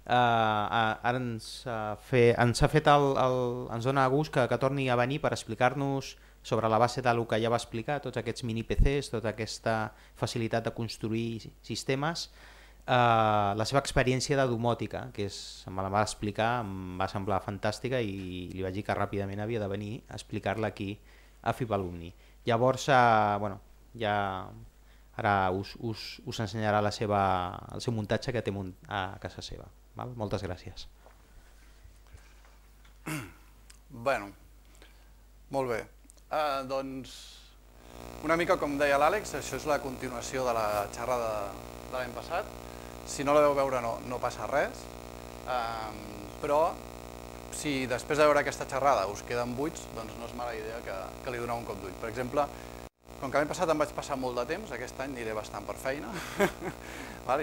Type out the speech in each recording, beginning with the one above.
Ara ens dona gust que torni a venir per explicar-nos sobre la base del que ja va explicar, tots aquests mini PCs, tota aquesta facilitat de construir sistemes, la seva experiència de domòtica, que me la va explicar, em va semblar fantàstica i li vaig dir que ràpidament havia de venir a explicar-la aquí a FIB Alumni. Llavors, ja ara us ensenyarà el seu muntatge que té a casa seva. Val? Moltes gràcies. Bueno, molt bé. Doncs, una mica com deia l'Àlex, això és la continuació de la xerrada de l'any passat. Si no la veu veure no passa res, però si després de veure aquesta xerrada us queden buits, doncs no és mala idea que li doneu un cop d'ull. Per exemple, com que l'any passat em vaig passar molt de temps, aquest any aniré bastant per feina,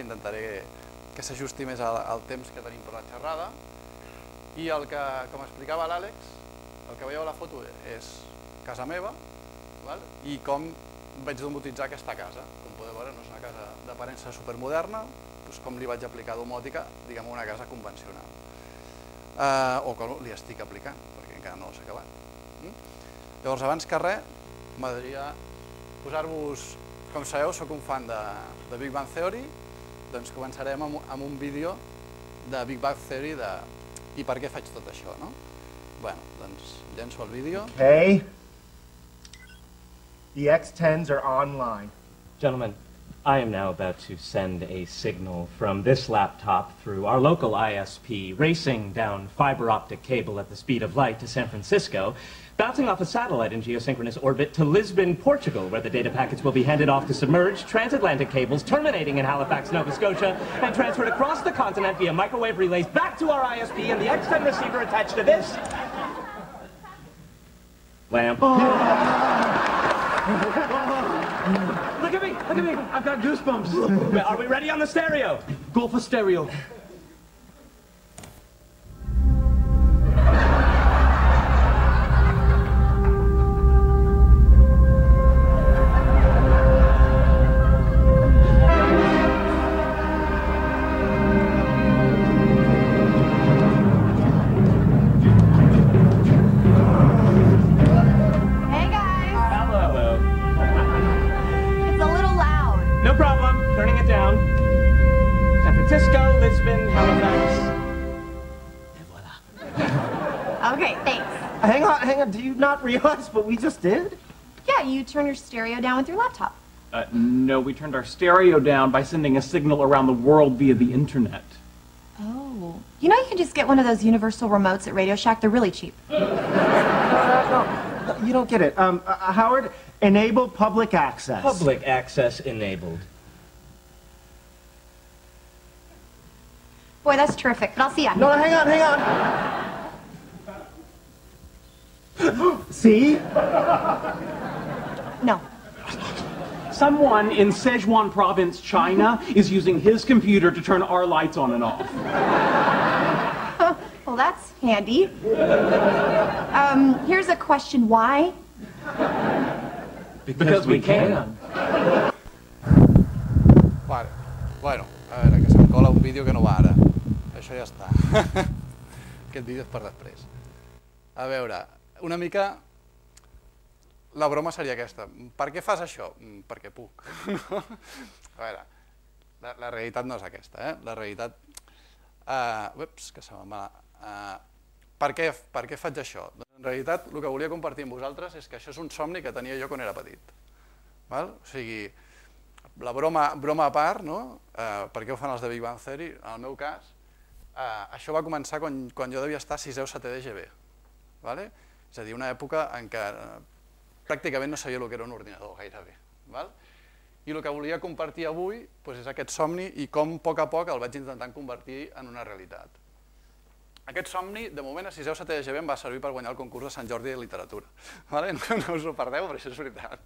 intentaré que s'ajusti més al temps que tenim per la xerrada, i com explicava l'Àlex, el que veieu a la foto és casa meva, i com vaig domotitzar aquesta casa. Com podeu veure, no és una casa d'aparença supermoderna, com li vaig aplicar domòtica, diguem una casa convencional. O que li estic aplicant, perquè encara no s'ha acabat. Llavors, abans que res, m'agradaria posar-vos, com sabeu, soc un fan de Big Bang Theory, doncs començarem amb un vídeo de Big Bang Theory i per què faig tot això, no? Bé, doncs llenço el vídeo. Okay. The X10s are online. Gentlemen, I am now about to send a signal from this laptop through our local ISP, racing down fiber optic cable at the speed of light to San Francisco, bouncing off a satellite in geosynchronous orbit to Lisbon, Portugal, where the data packets will be handed off to submerged transatlantic cables terminating in Halifax, Nova Scotia, and transferred across the continent via microwave relays back to our ISP and the X10 receiver attached to this lamp. Look at me, I've got goosebumps. Are we ready on the stereo? Go for stereo. Do you not realize what we just did? Yeah, you turn your stereo down with your laptop. No, we turned our stereo down by sending a signal around the world via the internet. Oh. You know you can just get one of those universal remotes at Radio Shack. They're really cheap. No, you don't get it. Howard, enable public access. Public access enabled. Boy, that's terrific, but I'll see ya. No, hang on. See? No. Someone in Sichuan province, China, is using his computer to turn our lights on and off. Well, that's handy. Here's a question. Why? Because we can. Vale. Bueno, a veure, que se'm cola un vídeo que no va ara. Això ja està. Aquest vídeo és per després. A veure, una mica la broma seria aquesta. Per què fas això? Perquè puc. A veure, la realitat no és aquesta, La realitat... Ups, que se me'n va... Per què faig això? En realitat, el que volia compartir amb vosaltres és que això és un somni que tenia jo quan era petit. O sigui, la broma a part, no? Per què ho fan els de Big Bang Theory? En el meu cas, això va començar quan jo devia estar a 6è o 7è d'EGB. És a dir, una època en què pràcticament no sabia el que era un ordinador, gairebé. I el que volia compartir avui és aquest somni i com a poc el vaig intentant convertir en una realitat. Aquest somni, de moment, a 6è o 7è d'EGB em va servir per guanyar el concurs de Sant Jordi de literatura. No us ho perdeu, però això és veritat.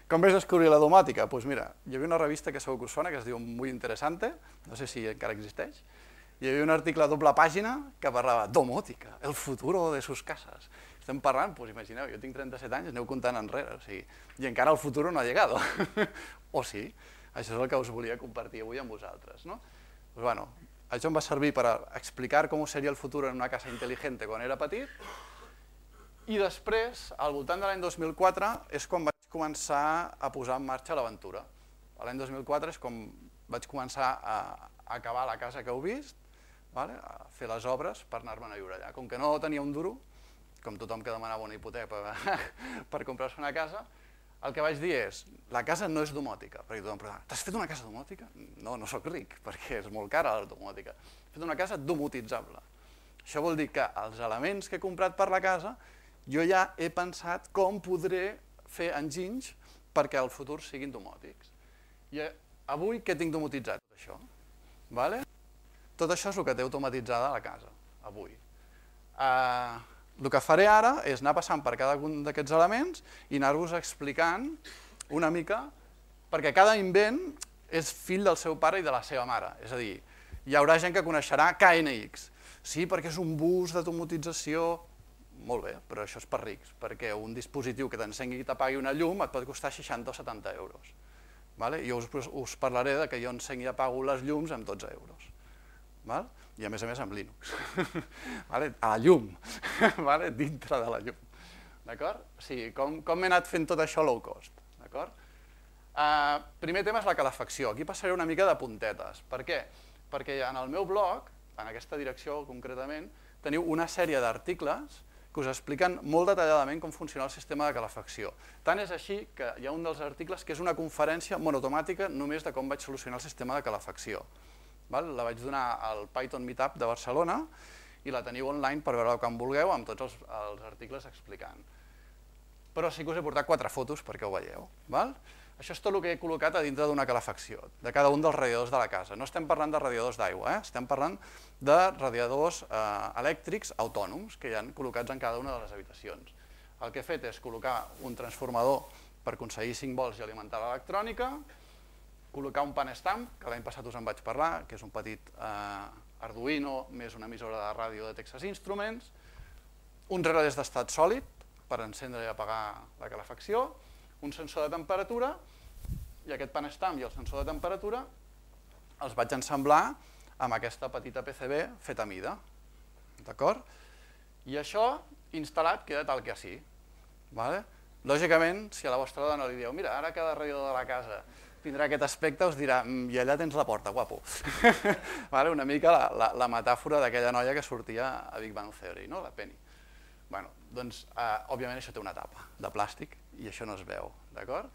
Com vaig descobrir la domòtica? Doncs mira, hi havia una revista que segur que us sona, que es diu Muy Interesante, no sé si encara existeix, hi havia un article a doble pàgina que parlava domòtica, el futuro de sus casas. Estem parlant, doncs imagineu, jo tinc 37 anys, aneu comptant enrere, i encara el futuro no ha llegado. O sí, això és el que us volia compartir avui amb vosaltres. Doncs bueno, això em va servir per explicar com seria el futur en una casa intel·ligent quan era petit, i després, al voltant de l'any 2004, és quan vaig començar a posar en marxa l'aventura. L'any 2004 és quan vaig començar a acabar la casa que heu vist, a fer les obres per anar-me'n a viure allà. Com que no tenia un duro, com tothom que demanava una hipoteca per comprar-se una casa, el que vaig dir és, la casa no és domòtica, perquè tothom pregunta, t'has fet una casa domòtica? No, no soc ric, perquè és molt cara la domòtica. He fet una casa domotitzable. Això vol dir que els elements que he comprat per la casa, jo ja he pensat com podré fer enginys perquè al futur siguin domòtics. I avui què tinc domotitzat? Tot això. Tot això és el que té automatitzada la casa, avui. El que faré ara és anar passant per cada un d'aquests elements i anar-vos explicant una mica, perquè cada invent és fill del seu pare i de la seva mare. És a dir, hi haurà gent que coneixerà KNX. Sí, perquè és un bus d'automatització. Molt bé, però això és per rics, perquè un dispositiu que t'encengui i t'apagui una llum et pot costar 60 o 70 euros. Jo us parlaré que jo encenc i apago les llums amb 12 euros. I a més amb Linux, a la llum, dintre de la llum. O sigui, com m'he anat fent tot això low cost. Primer tema és la calefacció. Aquí passaré una mica de puntetes. Per què? Perquè en el meu blog, en aquesta direcció concretament, teniu una sèrie d'articles que us expliquen molt detalladament com funciona el sistema de calefacció. Tant és així que hi ha un dels articles que és una conferència monotomàtica només de com vaig solucionar el sistema de calefacció. La vaig donar al Python Meetup de Barcelona i la teniu online per veure-la quan vulgueu amb tots els articles explicant. Però sí que us he portat 4 fotos perquè ho veieu. Això és tot el que he col·locat a dintre d'una calefacció, de cada un dels radiadors de la casa. No estem parlant de radiadors d'aigua, estem parlant de radiadors elèctrics autònoms que hi ha col·locats en cada una de les habitacions. El que he fet és col·locar un transformador per aconseguir 5 volts i alimentar l'electrònica, col·locar un PAN-STAMP, que l'any passat us en vaig parlar, que és un petit Arduino més una emissora de ràdio de Texas Instruments, uns relés d'estat sòlid per encendre i apagar la calefacció, un sensor de temperatura, i aquest PAN-STAMP i el sensor de temperatura els vaig ensamblar amb aquesta petita PCB feta a mida. I això instal·lat queda tal que així. Lògicament, si a la vostra dona li dieu, mira, ara cada radiador de la casa tindrà aquest aspecte, us dirà, i allà tens la porta, guapo. Una mica la metàfora d'aquella noia que sortia a Big Bang Theory, la Penny. Doncs, òbviament, això té una tapa de plàstic i això no es veu, d'acord?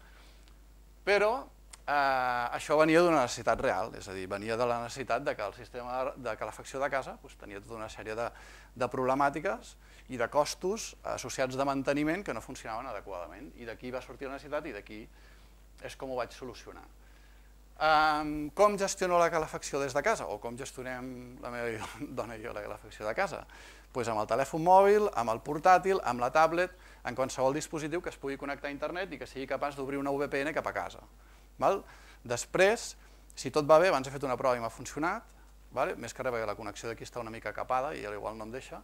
Però això venia d'una necessitat real, és a dir, venia de la necessitat que el sistema de calefacció de casa tenia tota una sèrie de problemàtiques i de costos associats de manteniment que no funcionaven adequadament. I d'aquí va sortir la necessitat i d'aquí és com ho vaig solucionar. Com gestiono la calefacció des de casa? O com gestionem la meva dona i jo la calefacció de casa? Doncs amb el telèfon mòbil, amb el portàtil, amb la tablet, en qualsevol dispositiu que es pugui connectar a internet i que sigui capaç d'obrir una VPN cap a casa. Després, si tot va bé, abans he fet una prova i m'ha funcionat, més que res perquè la connexió d'aquí està una mica capada i potser no em deixa,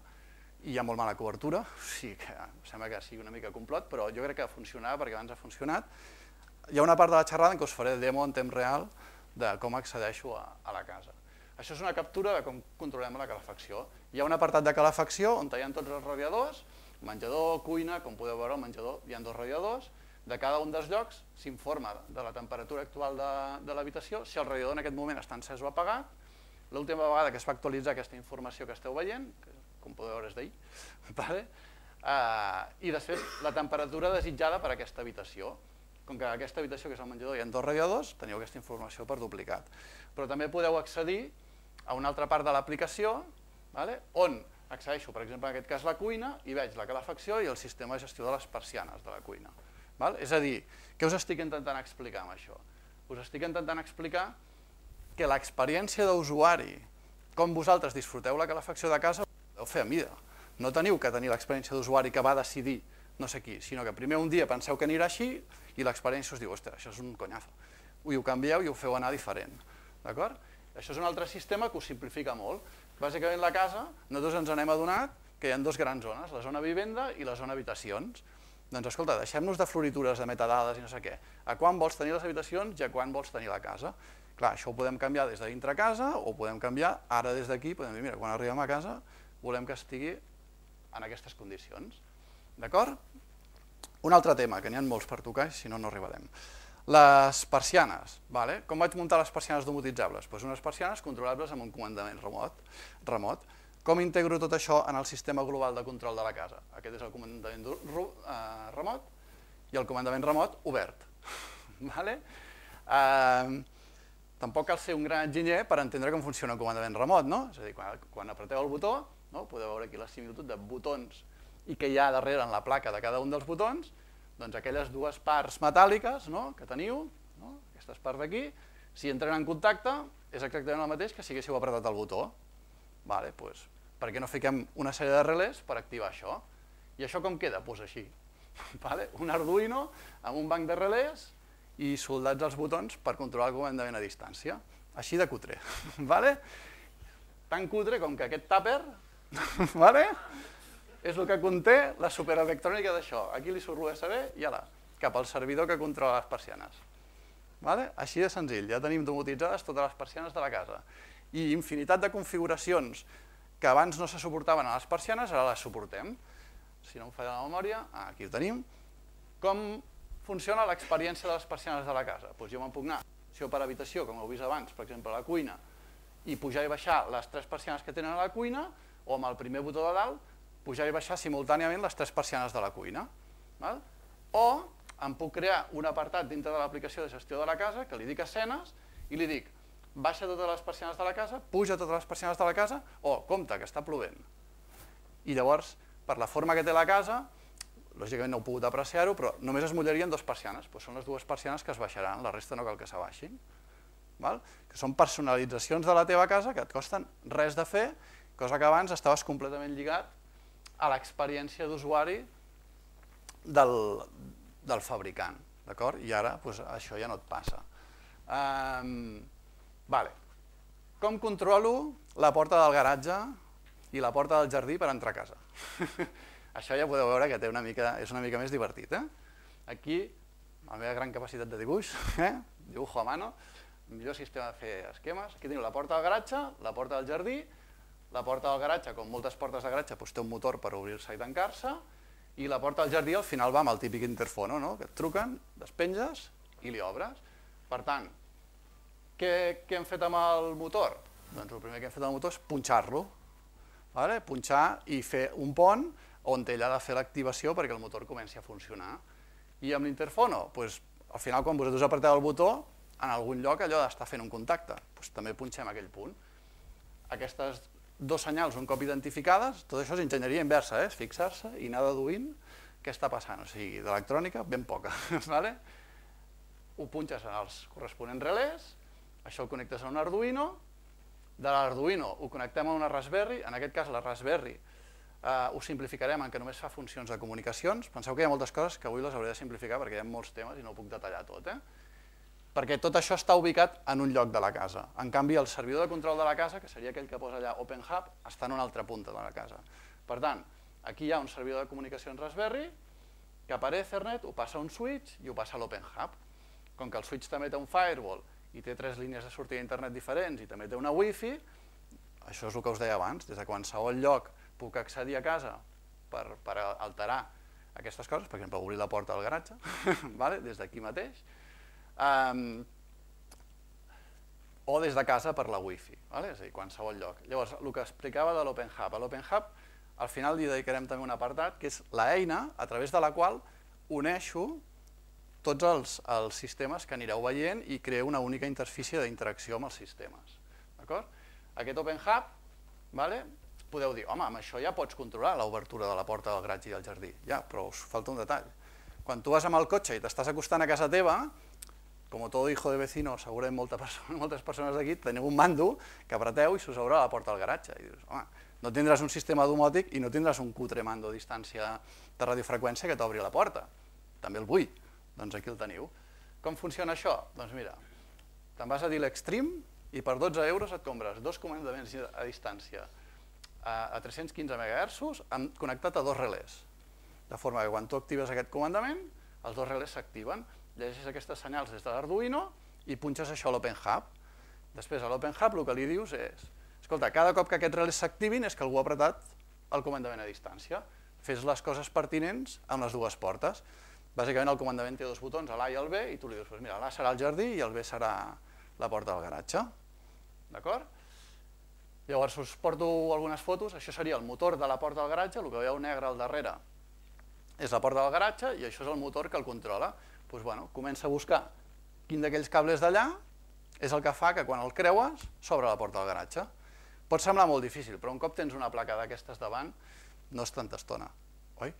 i hi ha molt mala cobertura, o sigui que sembla que sigui una mica complot, però jo crec que funcionava perquè abans ha funcionat. Hi ha una part de la xerrada en què us faré demo en temps real de com accedeixo a la casa. Això és una captura de com controlem la calefacció. Hi ha un apartat de calefacció on hi ha tots els radiadors, menjador, cuina, com podeu veure al menjador hi ha 2 radiadors, de cada un dels llocs s'informa de la temperatura actual de l'habitació, si el radiador en aquest moment està encès o apagat. L'última vegada que es va actualitzar aquesta informació que esteu veient, que com podeu veure és d'ahir, i després la temperatura desitjada per a aquesta habitació. Com que a aquesta habitació, que és el menjador, hi ha 2 radiadors, teniu aquesta informació per duplicat. Però també podeu accedir a una altra part de l'aplicació, on accedeixo, per exemple, en aquest cas la cuina, i veig la calefacció i el sistema de gestió de les persianes de la cuina. És a dir, què us estic intentant explicar amb això? Us estic intentant explicar que l'experiència d'usuari, com vosaltres disfruteu la calefacció de casa, ho podeu fer a mida. No teniu que tenir l'experiència d'usuari que va decidir no sé qui, sinó que primer un dia penseu que anirà així i l'experiència us diu, ostres, això és un conyazo. I ho canvieu i ho feu anar diferent. Això és un altre sistema que ho simplifica molt. Bàsicament la casa, nosaltres ens n'hem adonat que hi ha 2 grans zones, la zona vivenda i la zona habitacions. Doncs escolta, deixem-nos de floritures, de metadades i no sé què. A quan vols tenir les habitacions i a quan vols tenir la casa. Clar, això ho podem canviar des de dintre casa o podem canviar ara des d'aquí, podem dir, mira, quan arribem a casa volem que estigui en aquestes condicions. D'acord? Un altre tema, que n'hi ha molts per tocar, si no, no arribarem. Les persianes. Com vaig muntar les persianes domotissables? Unes persianes controlables amb un comandament remot. Com integro tot això en el sistema global de control de la casa? Aquest és el comandament remot i el comandament remot obert. Tampoc cal ser un gran enginyer per entendre com funciona el comandament remot, no? És a dir, quan apreteu el botó, podeu veure aquí la similitud de botons i què hi ha darrere en la placa de cada un dels botons, doncs aquelles dues parts metàl·liques que teniu, aquestes parts d'aquí, si entren en contacte és exactament el mateix que si haguéssiu apretat el botó. Doncs per què no fiquem una sèrie de relés per activar això? I això com queda? Doncs així. Un Arduino amb un banc de relés i soldats els botons per controlar el comandament a distància. Així de cutre. Tan cutre com que aquest tàper és el que conté la superelectrònica d'això. Aquí li surt l'USB i ala, cap al servidor que controla les persianes. Així de senzill, ja tenim domotitzades totes les persianes de la casa. I infinitat de configuracions que abans no se suportaven a les persianes, ara les suportem. Si no em falla la memòria, aquí ho tenim. Com funciona l'experiència de les persianes de la casa? Jo me'n puc anar, si per habitació, com heu vist abans, per exemple, a la cuina, i pujar i baixar les 3 persianes que tenen a la cuina, o amb el primer botó de dalt, pujar i baixar simultàniament les 3 persianes de la cuina. O em puc crear un apartat dintre de l'aplicació de gestió de la casa, que li dic escenes, i li dic, baixa totes les persianes de la casa, puja totes les persianes de la casa, o compte, que està plovent. I llavors, per la forma que té la casa, lògicament no heu pogut apreciar-ho, però només es mullarien 2 persianes, són les 2 persianes que es baixaran, la resta no cal que s'abaixin. Que són personalitzacions de la teva casa que et costen res de fer, cosa que abans estaves completament lligat a l'experiència d'usuari del fabricant, d'acord? I ara això ja no et passa. Com controlo la porta del garatge i la porta del jardí per entrar a casa? Això ja podeu veure que és una mica més divertit. Aquí, amb la meva gran capacitat de dibuix, dibujo a mano, millor sistema de fer esquemes. Aquí teniu la porta del garatge, la porta del jardí. La porta del garatge, com moltes portes de garatge, té un motor per obrir-se i tancar-se, i la porta del jardí al final va amb el típic interfono, que et truquen, despenges i li obres. Per tant, què hem fet amb el motor? Doncs el primer que hem fet amb el motor és punxar-lo. Punxar i fer un pont on ell ha de fer l'activació perquè el motor comenci a funcionar. I amb l'interfono, al final quan vosaltres apreteu el botó, en algun lloc allò d'estar fent un contacte, també punxem aquell punt. Aquestes 2 senyals un cop identificades, tot això és enginyeria inversa, és fixar-se i anar deduint què està passant, o sigui, d'electrònica ben poca. Ho punxes en els corresponents relés, això ho connectes a un Arduino, de l'Arduino ho connectem a una Raspberry, en aquest cas la Raspberry ho simplificarem en què només fa funcions de comunicacions. Penseu que hi ha moltes coses que avui les hauré de simplificar perquè hi ha molts temes i no ho puc detallar tot, perquè tot això està ubicat en un lloc de la casa. En canvi, el servidor de control de la casa, que seria aquell que posa allà OpenHub, està en una altra punta de la casa. Per tant, aquí hi ha un servidor de comunicacions Raspberry que per Ethernet ho passa a un switch i ho passa a l'OpenHub. Com que el switch també té un firewall i té 3 línies de sortida d'internet diferents i també té una Wi-Fi, això és el que us deia abans, des de qualsevol lloc puc accedir a casa per alterar aquestes coses, per exemple, obrir la porta del garatge, des d'aquí mateix, o des de casa per la Wi-Fi, és a dir, qualsevol lloc. Llavors, el que explicava de l'OpenHub. A l'OpenHub, al final li dedicarem també un apartat, que és l'eina a través de la qual uneixo tots els sistemes que anireu veient i creo una única interfície d'interacció amb els sistemes. Aquest OpenHub, podeu dir, home, amb això ja pots controlar l'obertura de la porta del garatge i del jardí. Ja, però us falta un detall. Quan tu vas amb el cotxe i t'estàs acostant a casa teva, com todo hijo de vecino, segurament moltes persones d'aquí, teniu un mando que apreteu i s'us obre la porta del garatge. I dius, home, no tindràs un sistema domòtic i no tindràs un cutre mando a distància de radiofreqüència que t'obri la porta. També el vull. Doncs aquí el teniu. Com funciona això? Doncs mira, te'n vas a dir l'Extreme i per 12 euros et compres 2 comandaments a distància a 315 MHz connectat a 2 relés. De forma que quan tu actives aquest comandament, els 2 relés s'activen, llegeixes aquestes senyals des de l'Arduino i punxes això a l'OpenHub. Després, a l'Open Hub el que li dius és, escolta, cada cop que aquests relés s'activin és que algú ha apretat el comandament a distància. Fes les coses pertinents amb les dues portes. Bàsicament el comandament té dos botons, l'A i el B, i tu li dius, mira, l'A serà el jardí i el B serà la porta del garatge. D'acord? Llavors us porto algunes fotos, això seria el motor de la porta del garatge, el que veieu negre al darrere és la porta del garatge i això és el motor que el controla. Doncs bueno, comença a buscar quin d'aquells cables d'allà és el que fa que quan el creues s'obre la porta del garatge. Pot semblar molt difícil, però un cop tens una placa d'aquestes davant no és tanta estona, oi?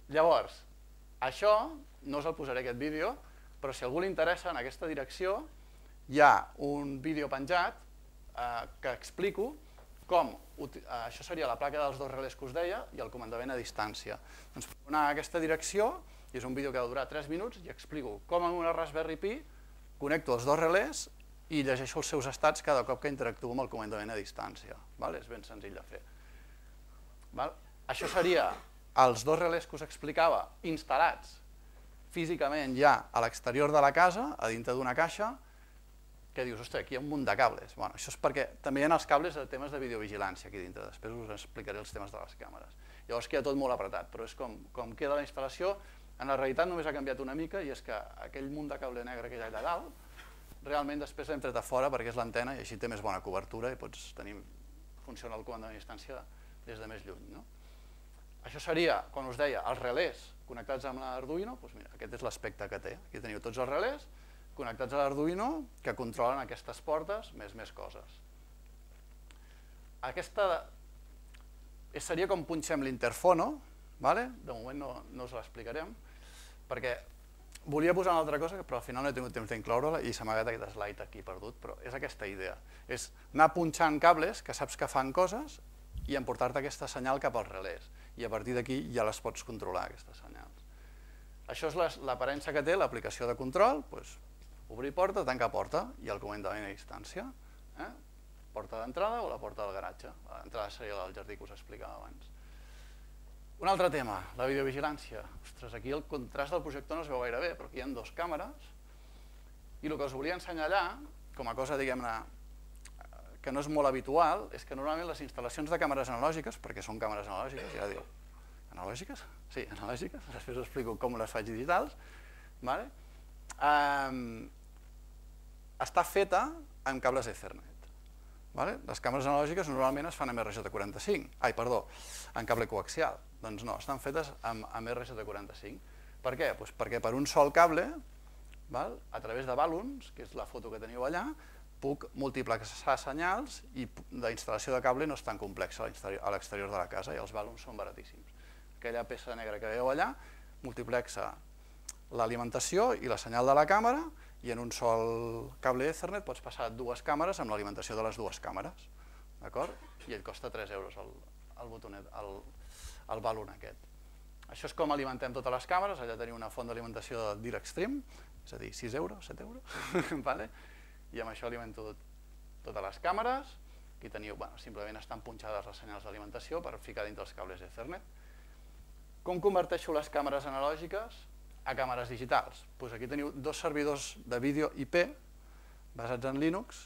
Llavors, això no us el posaré aquest vídeo, però si a algú li interessa en aquesta direcció hi ha un vídeo penjat que explico com, això seria la placa dels dos relés que us deia i el comandament a distància. Doncs puc anar a aquesta direcció, i és un vídeo que ha de durar 3 minuts, i explico com amb una Raspberry Pi connecto els dos relés i llegeixo els seus estats cada cop que interactuo amb el comandament a distància. És ben senzill de fer. Això seria els dos relés que us explicava instal·lats físicament ja a l'exterior de la casa, a dintre d'una caixa, que dius, ostres, aquí hi ha un munt de cables. Això és perquè també hi ha els cables de temes de videovigilància aquí dintre, després us explicaré els temes de les càmeres. Llavors queda tot molt apretat, però és com queda la instal·lació, en la realitat només ha canviat una mica i és que aquell munt de cable negre que hi ha allà dalt, realment després l'hem tret a fora perquè és l'antena i així té més bona cobertura i pots tenir, funciona el comandament a distància des de més lluny. Això seria, quan us deia, els relés connectats amb l'Arduino, aquest és l'aspecte que té. Aquí teniu tots els relés connectats a l'Arduino que controlen aquestes portes més coses. Aquesta seria com punxem l'interfono, de moment no us l'explicarem, perquè volia posar una altra cosa, però al final no he tingut temps d'incloure-la i s'ha amagat aquest slide aquí perdut, però és aquesta idea. És anar punxant cables que saps que fan coses i emportar-te aquesta senyal cap als relés. I a partir d'aquí ja les pots controlar, aquestes senyals. Això és l'aparença que té l'aplicació de control, obrir porta, tancar porta i el comandament a distància. Porta d'entrada o la porta del garatge. L'entrada seria la del jardí que us explicava abans. Un altre tema, la videovigilància. Ostres, aquí el contrast del projector no es veu gaire bé, però aquí hi ha dues càmeres i el que us volia ensenyar allà, com a cosa, diguem-ne, que no és molt habitual, és que normalment les instal·lacions de càmeres analògiques, perquè són càmeres analògiques, ja diu, analògiques? Sí, analògiques, després us explico com les faig digitals, està feta amb cables Ethernet. Les càmeres analògiques normalment es fan amb RJ45, en cable coaxial. Doncs no, estan fetes amb RJ45. Per què? Perquè per un sol cable, a través de balons, que és la foto que teniu allà, puc multiplexar senyals i la instal·lació de cable no és tan complexa a l'exterior de la casa i els balons són baratíssims. Aquella peça negra que veieu allà multiplexa l'alimentació i la senyal de la càmera i en un sol cable Ethernet pots passar dues càmeres amb l'alimentació de les dues càmeres, d'acord? I ell costa 3 euros el botonet, el balon aquest. Això és com alimentem totes les càmeres, allà teniu una font d'alimentació de DirectStream, és a dir, 6 euros, 7 euros, i amb això alimento totes les càmeres, aquí teniu, simplement estan punxades les senyals d'alimentació per ficar dintre els cables Ethernet. Com converteixo les càmeres analògiques a càmeres digitals? Doncs aquí teniu dos servidors de vídeo IP basats en Linux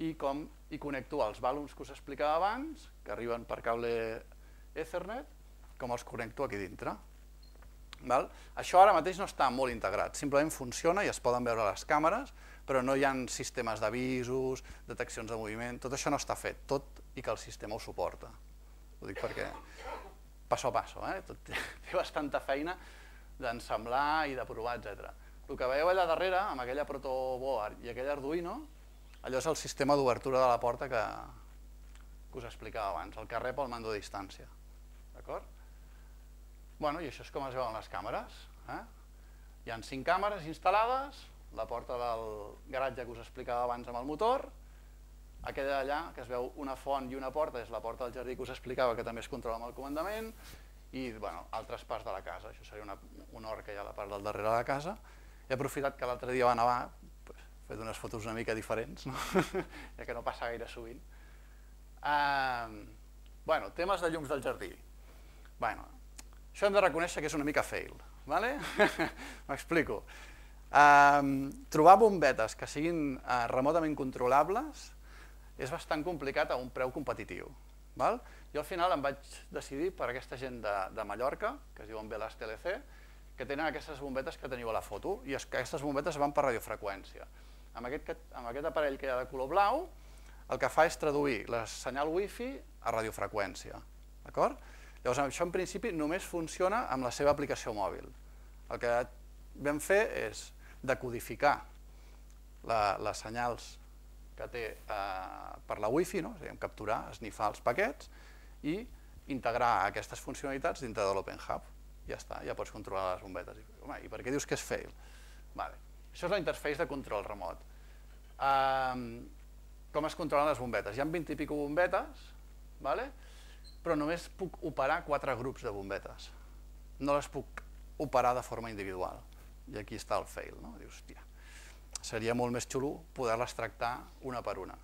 i connecto els balons que us explicava abans, que arriben per cable Ethernet, com els connecto aquí dintre. Això ara mateix no està molt integrat, simplement funciona i es poden veure les càmeres, però no hi ha sistemes d'avisos, deteccions de moviment, tot això no està fet, tot i que el sistema ho suporta. Ho dic perquè passo a passo, té bastanta feina d'ensemblar i de provar, etc. El que veieu allà darrere, amb aquella protoboard i aquell Arduino, allò és el sistema d'obertura de la porta que us explicava abans, el que rep el mando a distància. D'acord? I això és com es veuen les càmeres. Hi ha 5 càmeres instal·lades, la porta del garatge que us explicava abans amb el motor, aquella allà, que es veu una font i una porta, és la porta del jardí que us explicava, que també es controla amb el comandament, i altres parts de la casa. Això seria un hort que hi ha a la part del darrere de la casa. He aprofitat que l'altre dia va nevar, he fet unes fotos una mica diferents, ja que no passa gaire sovint. Temes de llums del jardí. Això hem de reconèixer que és una mica fail. M'explico. Trobar bombetes que siguin remotament controlables és bastant complicat a un preu competitiu. Jo al final em vaig decidir per aquesta gent de Mallorca, que es diuen Velas TLC, que tenen aquestes bombetes que teniu a la foto, i aquestes bombetes van per radiofreqüència. Amb aquest aparell que hi ha de color blau, el que fa és traduir el senyal wifi a radiofreqüència. Llavors, això en principi només funciona amb la seva aplicació mòbil. El que vam fer és decodificar les senyals que té per la wifi, capturar, esnifar els paquets i integrar aquestes funcionalitats dintre de l'Open Hub. Ja està, ja pots controlar les bombetes. Home, i per què dius que és fail? Això és la interface de control remot. Com es controlen les bombetes? Hi ha 20 i pico bombetes, però només puc operar 4 grups de bombetes. No les puc operar de forma individual. I aquí està el fail. Dius, hòstia, seria molt més xulo poder-les tractar una per una.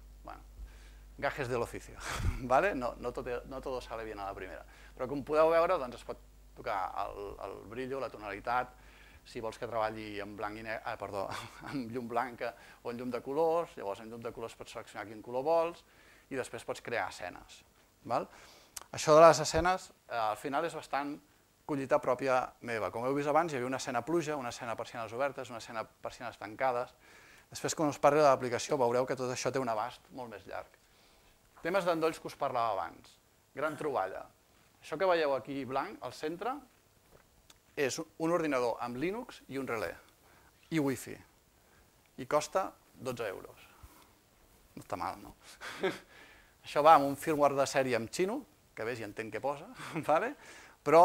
Gajes de l'oficio. No todo sale bien a la primera. Però com podeu veure, es pot tocar el brillo, la tonalitat, si vols que treballi amb llum blanca o en llum de colors, llavors en llum de colors pots seleccionar quin color vols i després pots crear escenes. Això de les escenes al final és bastant collita pròpia meva. Com heu vist abans, hi havia una escena pluja, una escena persianes obertes, una escena persianes tancades. Després, quan us parli de l'aplicació, veureu que tot això té un abast molt més llarg. Temes d'endolls que us parlava abans. Gran troballa. Això que veieu aquí blanc, al centre, és un ordinador amb Linux i un relé. I Wi-Fi. I costa 12 euros. No està mal, no? Això va amb un firmware de sèrie amb xino, que ves i entenc què posa, però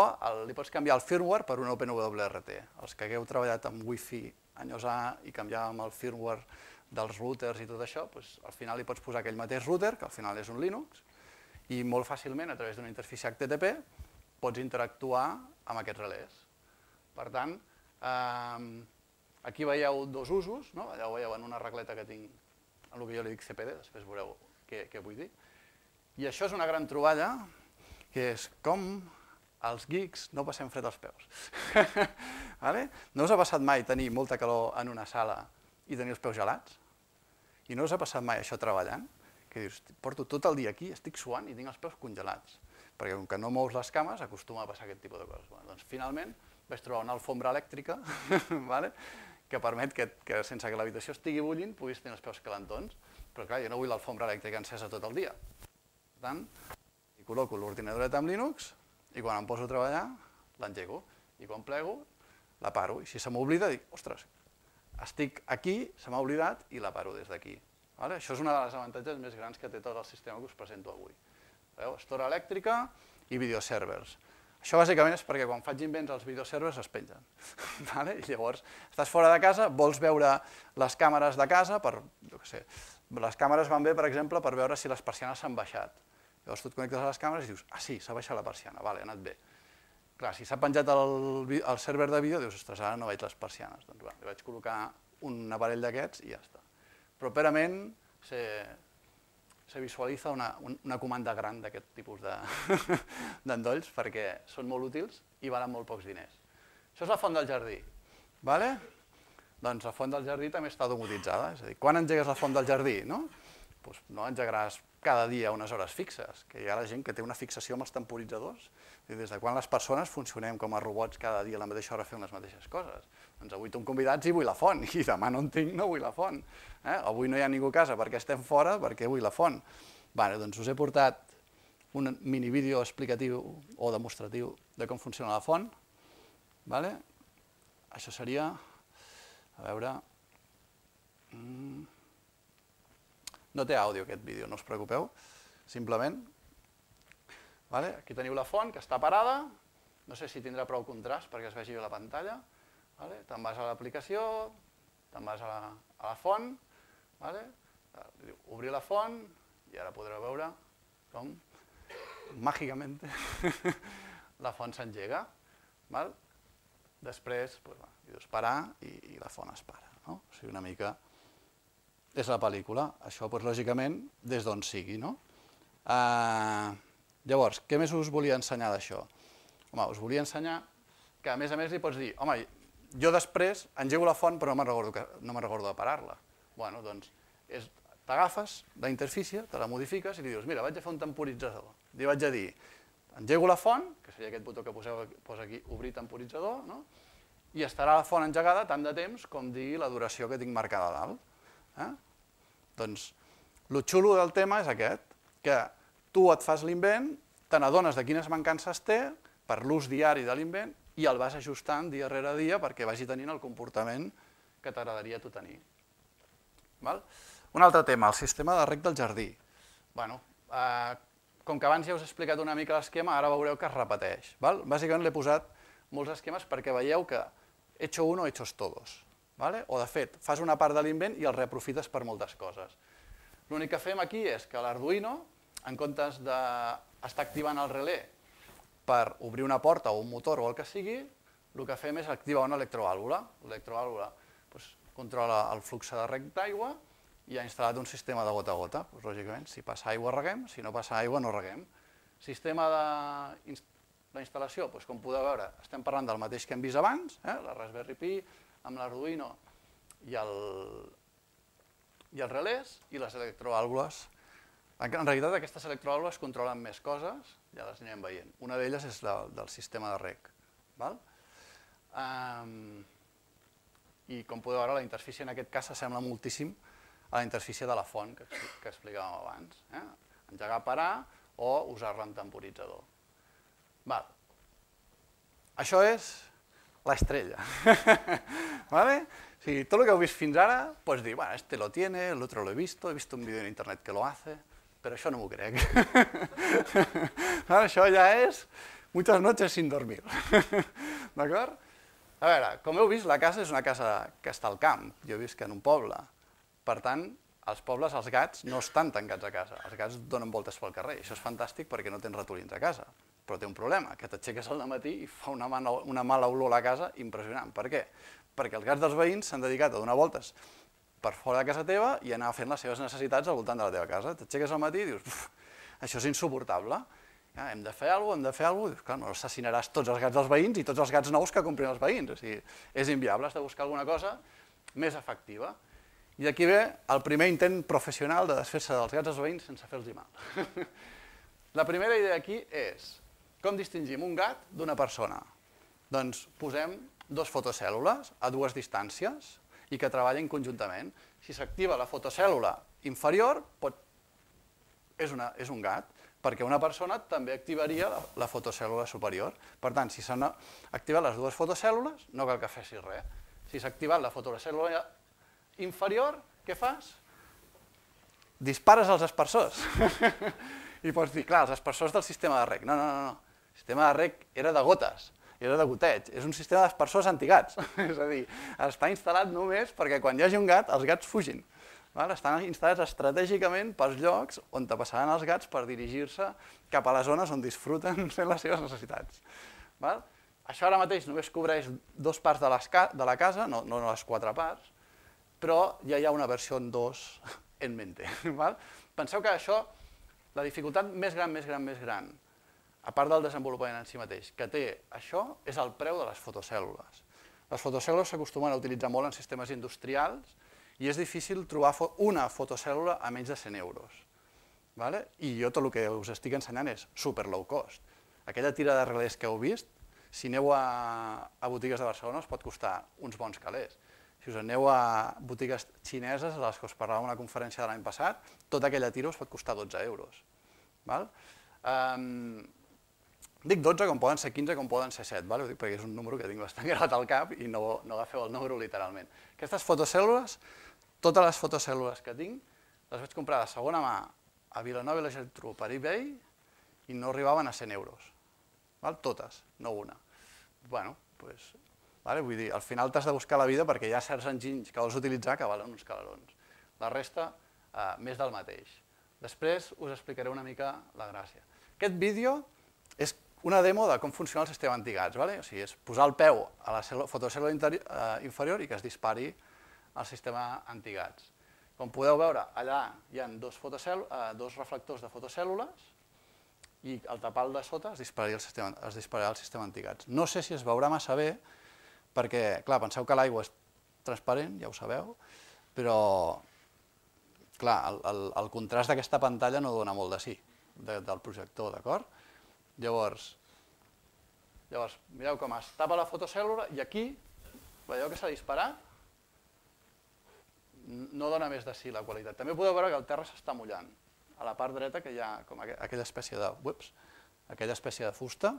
li pots canviar el firmware per un OpenWRT. Els que hagueu treballat amb Wi-Fi anyos A i canviàvem el firmware dels routers i tot això, al final li pots posar aquell mateix router, que al final és un Linux, i molt fàcilment, a través d'una interfície HTTP, pots interactuar amb aquests relés. Per tant, aquí veieu dos usos, allà ho veieu en una regleta que tinc, en el que jo li dic CPD, després veureu què vull dir. I això és una gran troballa, que és com els geeks no passem fred als peus. No us ha passat mai tenir molta calor en una sala i tenir els peus gelats? I no us ha passat mai això treballant? Que dius, porto tot el dia aquí, estic suant i tinc els peus congelats. Perquè com que no mous les cames, acostuma a passar aquest tipus de coses. Doncs finalment vaig trobar una alfombra elèctrica que permet que sense que l'habitació estigui bullint puguis tenir els peus calentons. Però clar, jo no vull l'alfombra elèctrica encesa tot el dia. Per tant, hi col·loco l'ordinadoret amb Linux i quan em poso a treballar l'engego. I quan plego la paro. I si se m'oblida dic, ostres, estic aquí, se m'ha oblidat i la paro des d'aquí. Això és una de les avantatges més grans que té tot el sistema que us presento avui. Estora elèctrica i videoservers. Això bàsicament és perquè quan faig invents els videoservers es pengen. Llavors, estàs fora de casa, vols veure les càmeres de casa, les càmeres van bé, per exemple, per veure si les persianes s'han baixat. Llavors tu et connectes a les càmeres i dius, ah sí, s'ha baixat la persiana, ha anat bé. Clar, si s'ha penjat el server de vídeo, dius, ostres, ara no veig les persianes. Doncs li vaig col·locar un aparell d'aquests i ja està. Properament se visualitza una comanda gran d'aquest tipus d'endolls perquè són molt útils i valen molt pocs diners. Això és la font del jardí. Doncs la font del jardí també està domotitzada. És a dir, quan engegues la font del jardí? No engegaràs cada dia unes hores fixes, que hi ha la gent que té una fixació amb els temporitzadors. Des de quan les persones funcionem com a robots cada dia a la mateixa hora fent les mateixes coses? Doncs avui som convidats i vull la font, i demà no en tinc, no vull la font. Avui no hi ha ningú a casa perquè estem fora, perquè vull la font. Doncs us he portat un mini vídeo explicatiu o demostratiu de com funciona la font. Això seria, a veure... No té àudio aquest vídeo, no us preocupeu, simplement. Aquí teniu la font, que està parada, no sé si tindrà prou contrast perquè es vegi bé la pantalla. Te'n vas a l'aplicació, te'n vas a la font, obrir la font i ara podreu veure com màgicament la font s'engega. Després dius parar i la font es para. O sigui, una mica és la pel·lícula. Això, lògicament, des d'on sigui. Llavors, què més us volia ensenyar d'això? Home, us volia ensenyar que, a més li pots dir, home, Jo després engego la font però no me'n recordo de parar-la. Bueno, doncs t'agafes la interfície, te la modifiques i li dius, mira, vaig a fer un temporitzador. Li vaig a dir, engego la font, que seria aquest botó que posa aquí, obrir temporitzador, i estarà la font engegada tant de temps com digui la duració que tinc marcada a dalt. Doncs, el xulo del tema és aquest, que tu et fas l'invent, te n'adones de quines mancances té per l'ús diari de l'invent i el vas ajustant dia rere dia perquè vagi tenint el comportament que t'agradaria tu tenir. Un altre tema, el sistema de reg del jardí. Com que abans ja us he explicat una mica l'esquema, ara veureu que es repeteix. Bàsicament l'he posat molts esquemes perquè veieu que hecho uno, hechos todos. O de fet, fas una part de l'invent i el reaprofites per moltes coses. L'únic que fem aquí és que l'Arduino, en comptes d'estar activant el relé per obrir una porta o un motor o el que sigui, el que fem és activar una electrovàlvula. L'electrovàlvula controla el flux de reg d'aigua i ha instal·lat un sistema de gota a gota. Lògicament, si passa aigua reguem, si no passa aigua no reguem. Sistema d'instal·lació, com podeu veure, estem parlant del mateix que hem vist abans, la Raspberry Pi amb l'Arduino i els relés i les electrovàlvules. En realitat aquestes electrovàlvules controlen més coses, ja les anirem veient. Una d'elles és la del sistema de reg. I com podeu veure, la interfície en aquest cas s'assembla moltíssim a la interfície de la font que explicàvem abans. Engegar, parar o usar-la en temporitzador. Això és l'estrella. Tot el que heu vist fins ara, pots dir, este lo tiene, el otro lo he visto un vídeo en internet que lo hace, però això no m'ho crec. Això ja és muchas noches sin dormir. D'acord? A veure, com heu vist, la casa és una casa que està al camp. Jo visc en un poble. Per tant, als pobles els gats no estan tancats a casa. Els gats donen voltes pel carrer. Això és fantàstic perquè no tens ratolins a casa. Però té un problema, que t'aixeques al matí i fa una mala olor a la casa impressionant. Per què? Perquè els gats dels veïns s'han dedicat a donar voltes per fora de casa teva i anar fent les seves necessitats al voltant de la teva casa. T'aixeques al matí i dius, això és insuportable. Hem de fer alguna cosa, Dius, clar, no assassinaràs tots els gats dels veïns i tots els gats nous que comprin els veïns. O sigui, és inviable, has de buscar alguna cosa més efectiva. I d'aquí ve el primer intent professional de desfer-se dels gats dels veïns sense fer-los mal. La primera idea aquí és com distingim un gat d'una persona. Doncs posem dues fotocèl·lules a dues distàncies i que treballen conjuntament. Si s'activa la fotocèl·lula inferior, és un gat, perquè una persona també activaria la fotocèl·lula superior. Per tant, si s'han activat les dues fotocèl·lules, no cal que facis res. Si s'ha activat la fotocèl·lula inferior, què fas? Dispares als aspersors. I pots dir, clar, els aspersors del sistema de reg. No. El sistema de reg era de gotes, era de goteig. És un sistema d'aspersors antigats. És a dir, està instal·lat només perquè quan hi hagi un gat, els gats fugin. Estan instal·lats estratègicament pels llocs on passaran els gats per dirigir-se cap a les zones on disfruten fent les seves necessitats. Això ara mateix només cobreix dues parts de la casa, no les quatre parts, però ja hi ha una versió 2 en mente. Penseu que això, la dificultat més gran, a part del desenvolupament en si mateix, que té això és el preu de les fotocèl·lules. Les fotocèl·lules s'acostumen a utilitzar molt en sistemes industrials i és difícil trobar una fotocèl·lula a menys de 100 euros. I jo tot el que us estic ensenyant és super low cost. Aquella tira de relés que heu vist, si aneu a botigues de Barcelona us pot costar uns bons calés. Si us aneu a botigues xineses, a les que us parlava en una conferència de l'any passat, tota aquella tira us pot costar 12 euros. Dic 12 com poden ser 15, com poden ser 7, ho dic perquè és un número que tinc bastant gravat al cap i no agafeu el número literalment. Aquestes fotocèl·lules, totes les fotocèl·lules que tinc, les vaig comprar de segona mà a Vilanova i la Geltrú per eBay i no arribaven a 100 euros. Totes, no una. Vull dir, al final t'has de buscar la vida perquè hi ha certs enginys que vols utilitzar que valen uns calarons. La resta, més del mateix. Després us explicaré una mica la gràcia. Aquest vídeo és una demo de com funciona el sistema antigats. O sigui, és posar el peu a la fotocèl·lula inferior i que es dispari el sistema antigats. Com podeu veure, allà hi ha dos reflectors de fotocèl·lules i al tapal de sota es dispararà el sistema antigats. No sé si es veurà massa bé perquè, clar, penseu que l'aigua és transparent, ja ho sabeu, però, clar, el contrast d'aquesta pantalla no dona molt de sí, del projector, d'acord? Llavors, mireu com es tapa la fotocèl·lula i aquí, veieu que s'ha disparat? No dona més de sí la qualitat. També podeu veure que el terra s'està mullant. A la part dreta que hi ha com aquella espècie de fusta,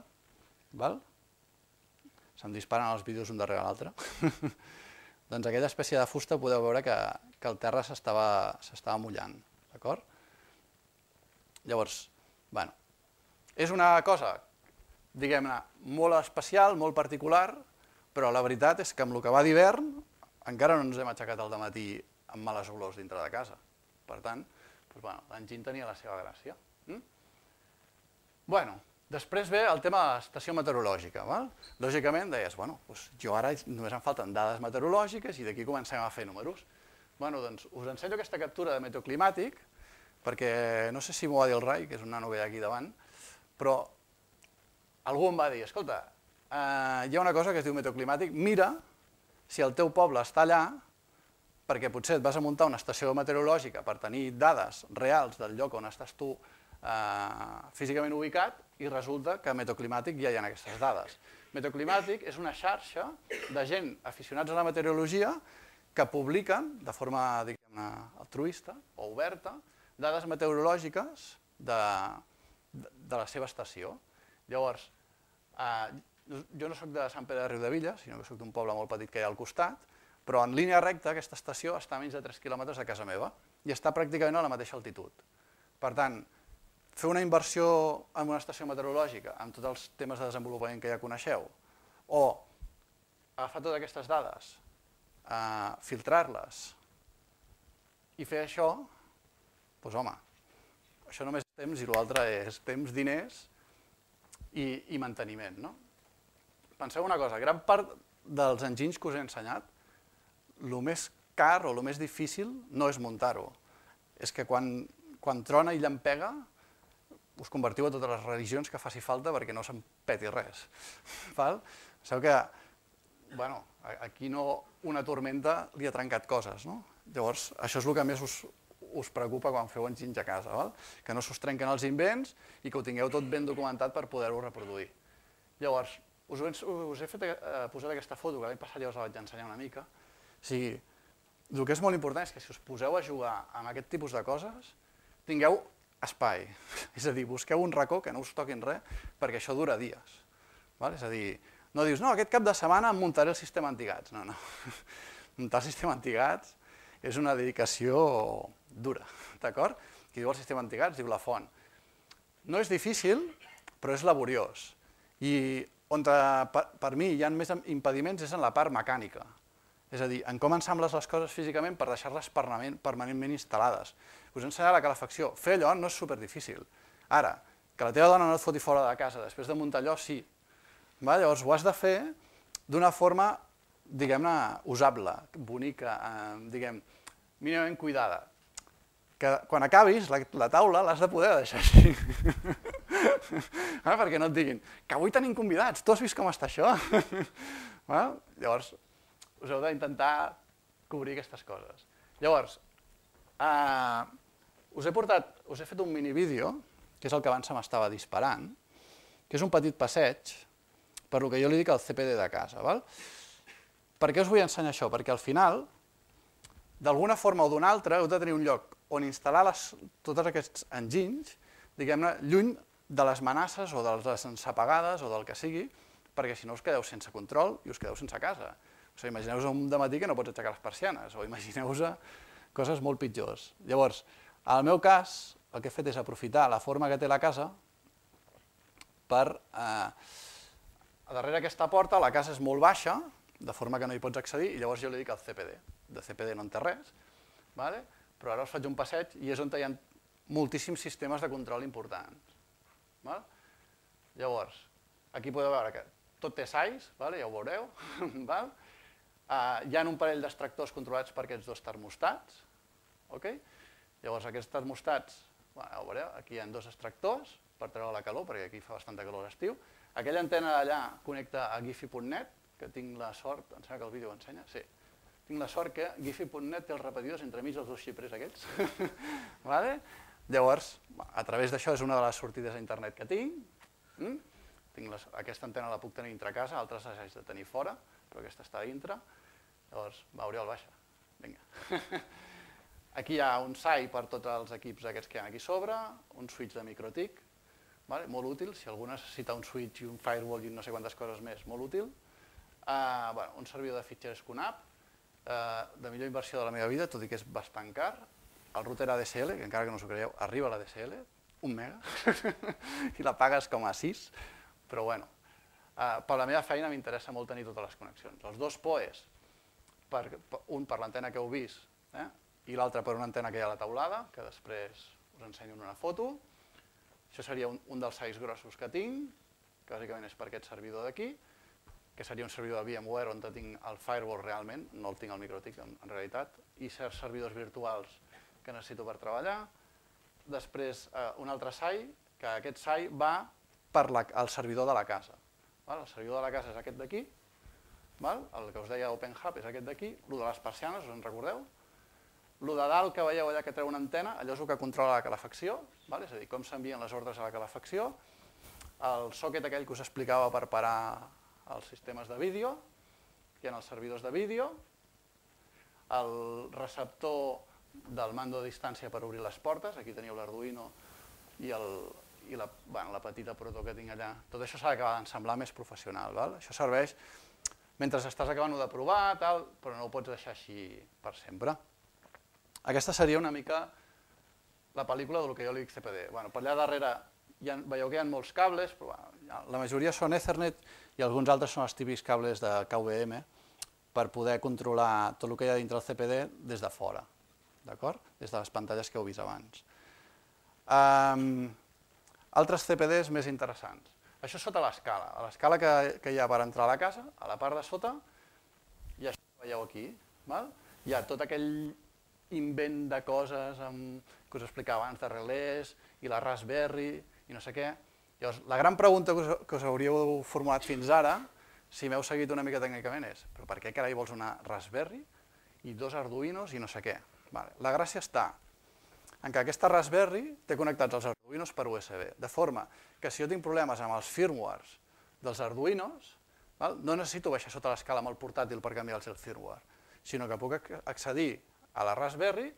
se'm disparen els vídeos un darrere l'altre, doncs aquella espècie de fusta podeu veure que el terra s'estava mullant, d'acord? Llavors, bueno, és una cosa, diguem-ne, molt especial, molt particular, però la veritat és que amb el que va d'hivern encara no ens hem aixecat al dematí amb males olors dintre de casa. Per tant, l'enginy tenia la seva gràcia. Després ve el tema de l'estació meteorològica. Lògicament deies, jo ara només em falten dades meteorològiques i d'aquí comencem a fer números. Doncs us ensenyo aquesta captura de meteoclimàtic, perquè no sé si m'ho va dir el Rai, que és un nano que hi ha aquí davant, però algú em va dir, escolta, hi ha una cosa que es diu meteoclimàtic, mira si el teu poble està allà, perquè potser et vas a muntar una estació meteorològica per tenir dades reals del lloc on estàs tu físicament ubicat i resulta que a Meteoclimàtic ja hi ha aquestes dades. Meteoclimàtic és una xarxa de gent aficionats a la meteorologia que publiquen de forma altruista o oberta dades meteorològiques de la seva estació. Llavors, jo no soc de Sant Pere de Riudebitlles, sinó que soc d'un poble molt petit que hi ha al costat, però en línia recta aquesta estació està a menys de 3 quilòmetres de casa meva i està pràcticament a la mateixa altitud. Per tant, fer una inversió en una estació meteorològica amb tots els temes de desenvolupament que ja coneixeu, o agafar totes aquestes dades, filtrar-les i fer això, doncs home, això només és temps i l'altre és temps, diners i manteniment. Penseu una cosa, gran part dels enginys que us he ensenyat, el més car o el més difícil no és muntar-ho, és que quan trona i llampega us convertiu a totes les religions que faci falta perquè no se'n peti res. Sabeu que aquí una tormenta li ha trencat coses, llavors això és el que més us preocupa quan feu enginys a casa, que no s'us trenquen els invents i que ho tingueu tot ben documentat per poder-ho reproduir. Llavors, us he posat aquesta foto, que l'any passat ja us la vaig ensenyar una mica. O sigui, el que és molt important és que si us poseu a jugar amb aquest tipus de coses, tingueu espai. És a dir, busqueu un racó que no us toquin res, perquè això dura dies. És a dir, no dius, no, aquest cap de setmana em muntaré el sistema antigats. No, no. Muntar el sistema antigats és una dedicació dura, d'acord? Qui diu el sistema antigats diu la font. No és difícil, però és laboriós. I on per mi hi ha més impediments és en la part mecànica. És a dir, en com ensambles les coses físicament per deixar-les permanentment instal·lades. Us he ensenyat la calefacció. Fer allò no és superdifícil. Ara, que la teva dona no et foti fora de casa després de muntar allò, sí. Llavors ho has de fer d'una forma, diguem-ne, usable, bonica, mínimament cuidada. Que quan acabis, la taula l'has de poder deixar així. Perquè no et diguin, que avui tenim convidats, tu has vist com està això? Llavors, us heu d'intentar cobrir aquestes coses. Llavors, us he fet un minivídeo, que és el que abans se m'estava disparant, que és un petit passeig, per el que jo li dic el CPD de casa. Per què us vull ensenyar això? Perquè al final, d'alguna forma o d'una altra, heu de tenir un lloc on instal·lar tots aquests enginys, diguem-ne, lluny de les amenaces o de les ensapagades o del que sigui, perquè si no us quedeu sense control i us quedeu sense casa. O sigui, imagineu-vos un dematí que no pots aixecar les persianes, o imagineu-vos coses molt pitjors. Llavors, en el meu cas, el que he fet és aprofitar la forma que té la casa per... A darrere aquesta porta la casa és molt baixa, de forma que no hi pots accedir, i llavors jo li dic el CPD. De CPD no en té res, però ara us faig un passeig i és on hi ha moltíssims sistemes de control importants. Llavors, aquí podeu veure que tot té sais, ja ho veureu. Hi ha un parell d'extractors controlats per aquests dos termostats. Llavors aquests termostats, ja ho veureu, aquí hi ha dos extractors per treure la calor, perquè aquí fa bastanta calor a l'estiu. Aquella antena d'allà connecta a gifi.net, que tinc la sort, em sembla que el vídeo ho ensenya, sí, tinc la sort que Giphy.net té els repetidors entremig dels dos xipres aquests. Llavors, a través d'això és una de les sortides a internet que tinc. Aquesta antena la puc tenir dintre casa, altres les haig de tenir fora, però aquesta està dintre. Llavors, va, Oriol, baixa. Vinga. Aquí hi ha un SAI per tots els equips aquests que hi ha aquí sobre, un switch de MikroTik, molt útil, si algú necessita un switch i un firewall i no sé quantes coses més, molt útil. Un servidor de fitxers QNAP, de millor inversió de la meva vida, tot i que és bastant car. El router ADSL, que encara que no us ho creieu, arriba a l'ADSL, 1 mega, i la pagues com a 6, però bueno, per la meva feina m'interessa molt tenir totes les connexions. Els dos PoEs, un per l'antena que heu vist i l'altre per una antena que hi ha a la taulada, que després us ensenyo en una foto. Això seria un dels SAIs grossos que tinc, que bàsicament és per aquest servidor d'aquí, que seria un servidor de VMware on tinc el firewall realment, no el tinc al MikroTik en realitat, i certs servidors virtuals que necessito per treballar. Després un altre SAI, que aquest SAI va per al servidor de la casa. El servidor de la casa és aquest d'aquí, el que us deia OpenHub és aquest d'aquí, el de les persianes, us en recordeu? El de dalt que veieu allà que treu una antena, allò és el que controla la calefacció, és a dir, com s'envien les ordres a la calefacció, el socket aquell que us explicava per parar els sistemes de vídeo, hi ha els servidors de vídeo, el receptor del mando a distància per obrir les portes, aquí teniu l'Arduino i la petita proto que tinc allà. Tot això s'ha d'acabar d'ensemblar més professional. Això serveix mentre estàs acabant-ho de provar, però no ho pots deixar així per sempre. Aquesta seria una mica la pel·lícula del que jo li dic CPD. Per allà darrere veieu que hi ha molts cables, però la majoria són Ethernet i alguns altres són els típics cables de KVM per poder controlar tot el que hi ha dintre del CPD des de fora, des de les pantalles que heu vist abans. Altres CPDs més interessants. Això sota l'escala. A l'escala que hi ha per entrar a la casa, a la part de sota, i això que veieu aquí. Hi ha tot aquell invent de coses que us explicava abans, de relés i la Raspberry i no sé què. Llavors, la gran pregunta que us hauríeu formulat fins ara, si m'heu seguit una mica tècnicament, és però per què carai vols una Raspberry i 2 Arduinos i no sé què? La gràcia està en què aquesta Raspberry té connectats els Arduinos per USB, de forma que si jo tinc problemes amb els firmwares dels Arduinos, no necessito baixar sota l'escala amb el portàtil per canviar-los el firmware, sinó que puc accedir a la Raspberry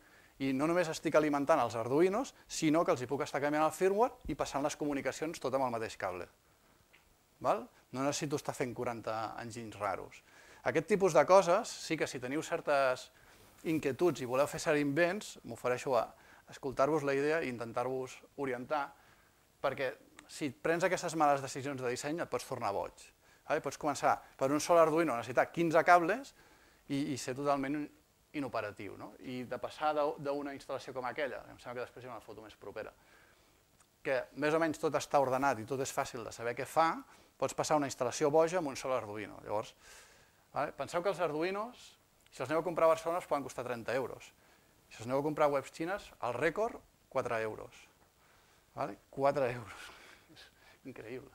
i no només estic alimentant els Arduinos, sinó que els hi puc estar canviant el firmware i passant les comunicacions tot amb el mateix cable. No necessito estar fent 40 enginys raros. Aquest tipus de coses, sí que si teniu certes inquietuds i voleu fer cert invents, m'ofereixo a escoltar-vos la idea i intentar-vos orientar, perquè si prens aquestes males decisions de disseny et pots tornar boig. Pots començar per un sol Arduino, necessitar 15 cables i ser totalment inoperatiu. I de passar d'una instal·lació com aquella, em sembla que després hi ha una foto més propera, que més o menys tot està ordenat i tot és fàcil de saber què fa, pots passar una instal·lació boja amb un sol Arduino. Llavors, penseu que els Arduinos, si els aneu a comprar a Barcelona, us poden costar 30 euros. Si els aneu a comprar a webs xines, el rècord, 4 euros. 4 euros. És increïble.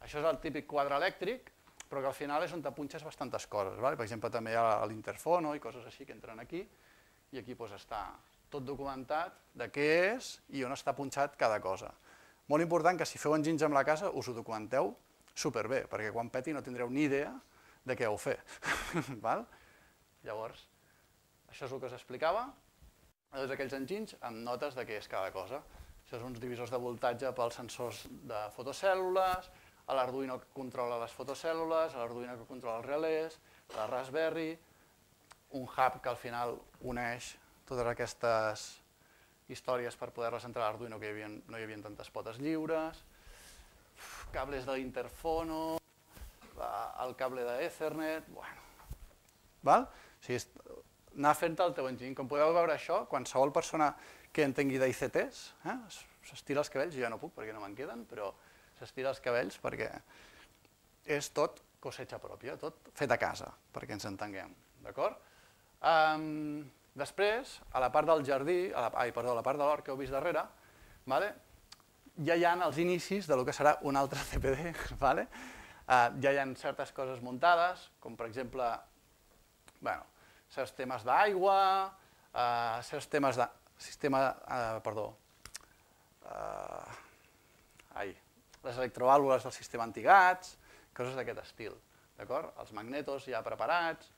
Això és el típic quadre elèctric, però que al final és on t'apunxes bastantes coses. Per exemple, també hi ha l'interfono i coses així que entren aquí, i aquí està tot documentat de què és i on està punxat cada cosa. Molt important que si feu enginys amb la casa us ho documenteu superbé, perquè quan peti no tindreu ni idea de què heu fet. Llavors, això és el que us explicava. Tots aquells enginys amb notes de què és cada cosa. Això són uns divisors de voltatge pels sensors de fotocèl·lules, l'Arduino que controla les fotocèl·lules, l'Arduino que controla els relés, la Raspberry, un hub que al final uneix totes aquestes històries per poder-les entrar a l'Arduino, que no hi havia tantes potes lliures, cables de l'interfono, el cable d'Ethernet, bueno. Anar fent el teu enginy. Com podeu veure això, qualsevol persona que entengui d'ICTs, s'estira els cabells, jo ja no puc perquè no me'n queden, però s'estira els cabells perquè és tot cosecha pròpia, tot fet a casa, perquè ens entenguem, d'acord? Després, a la part del jardí, a la part de l'hort que heu vist darrere, ja hi ha els inicis del que serà un altre CPD. Ja hi ha certes coses muntades, com per exemple, certs temes d'aigua, certs temes de les electrovàlvules del sistema antigats, coses d'aquest estil, d'acord? Els magnetos ja preparats,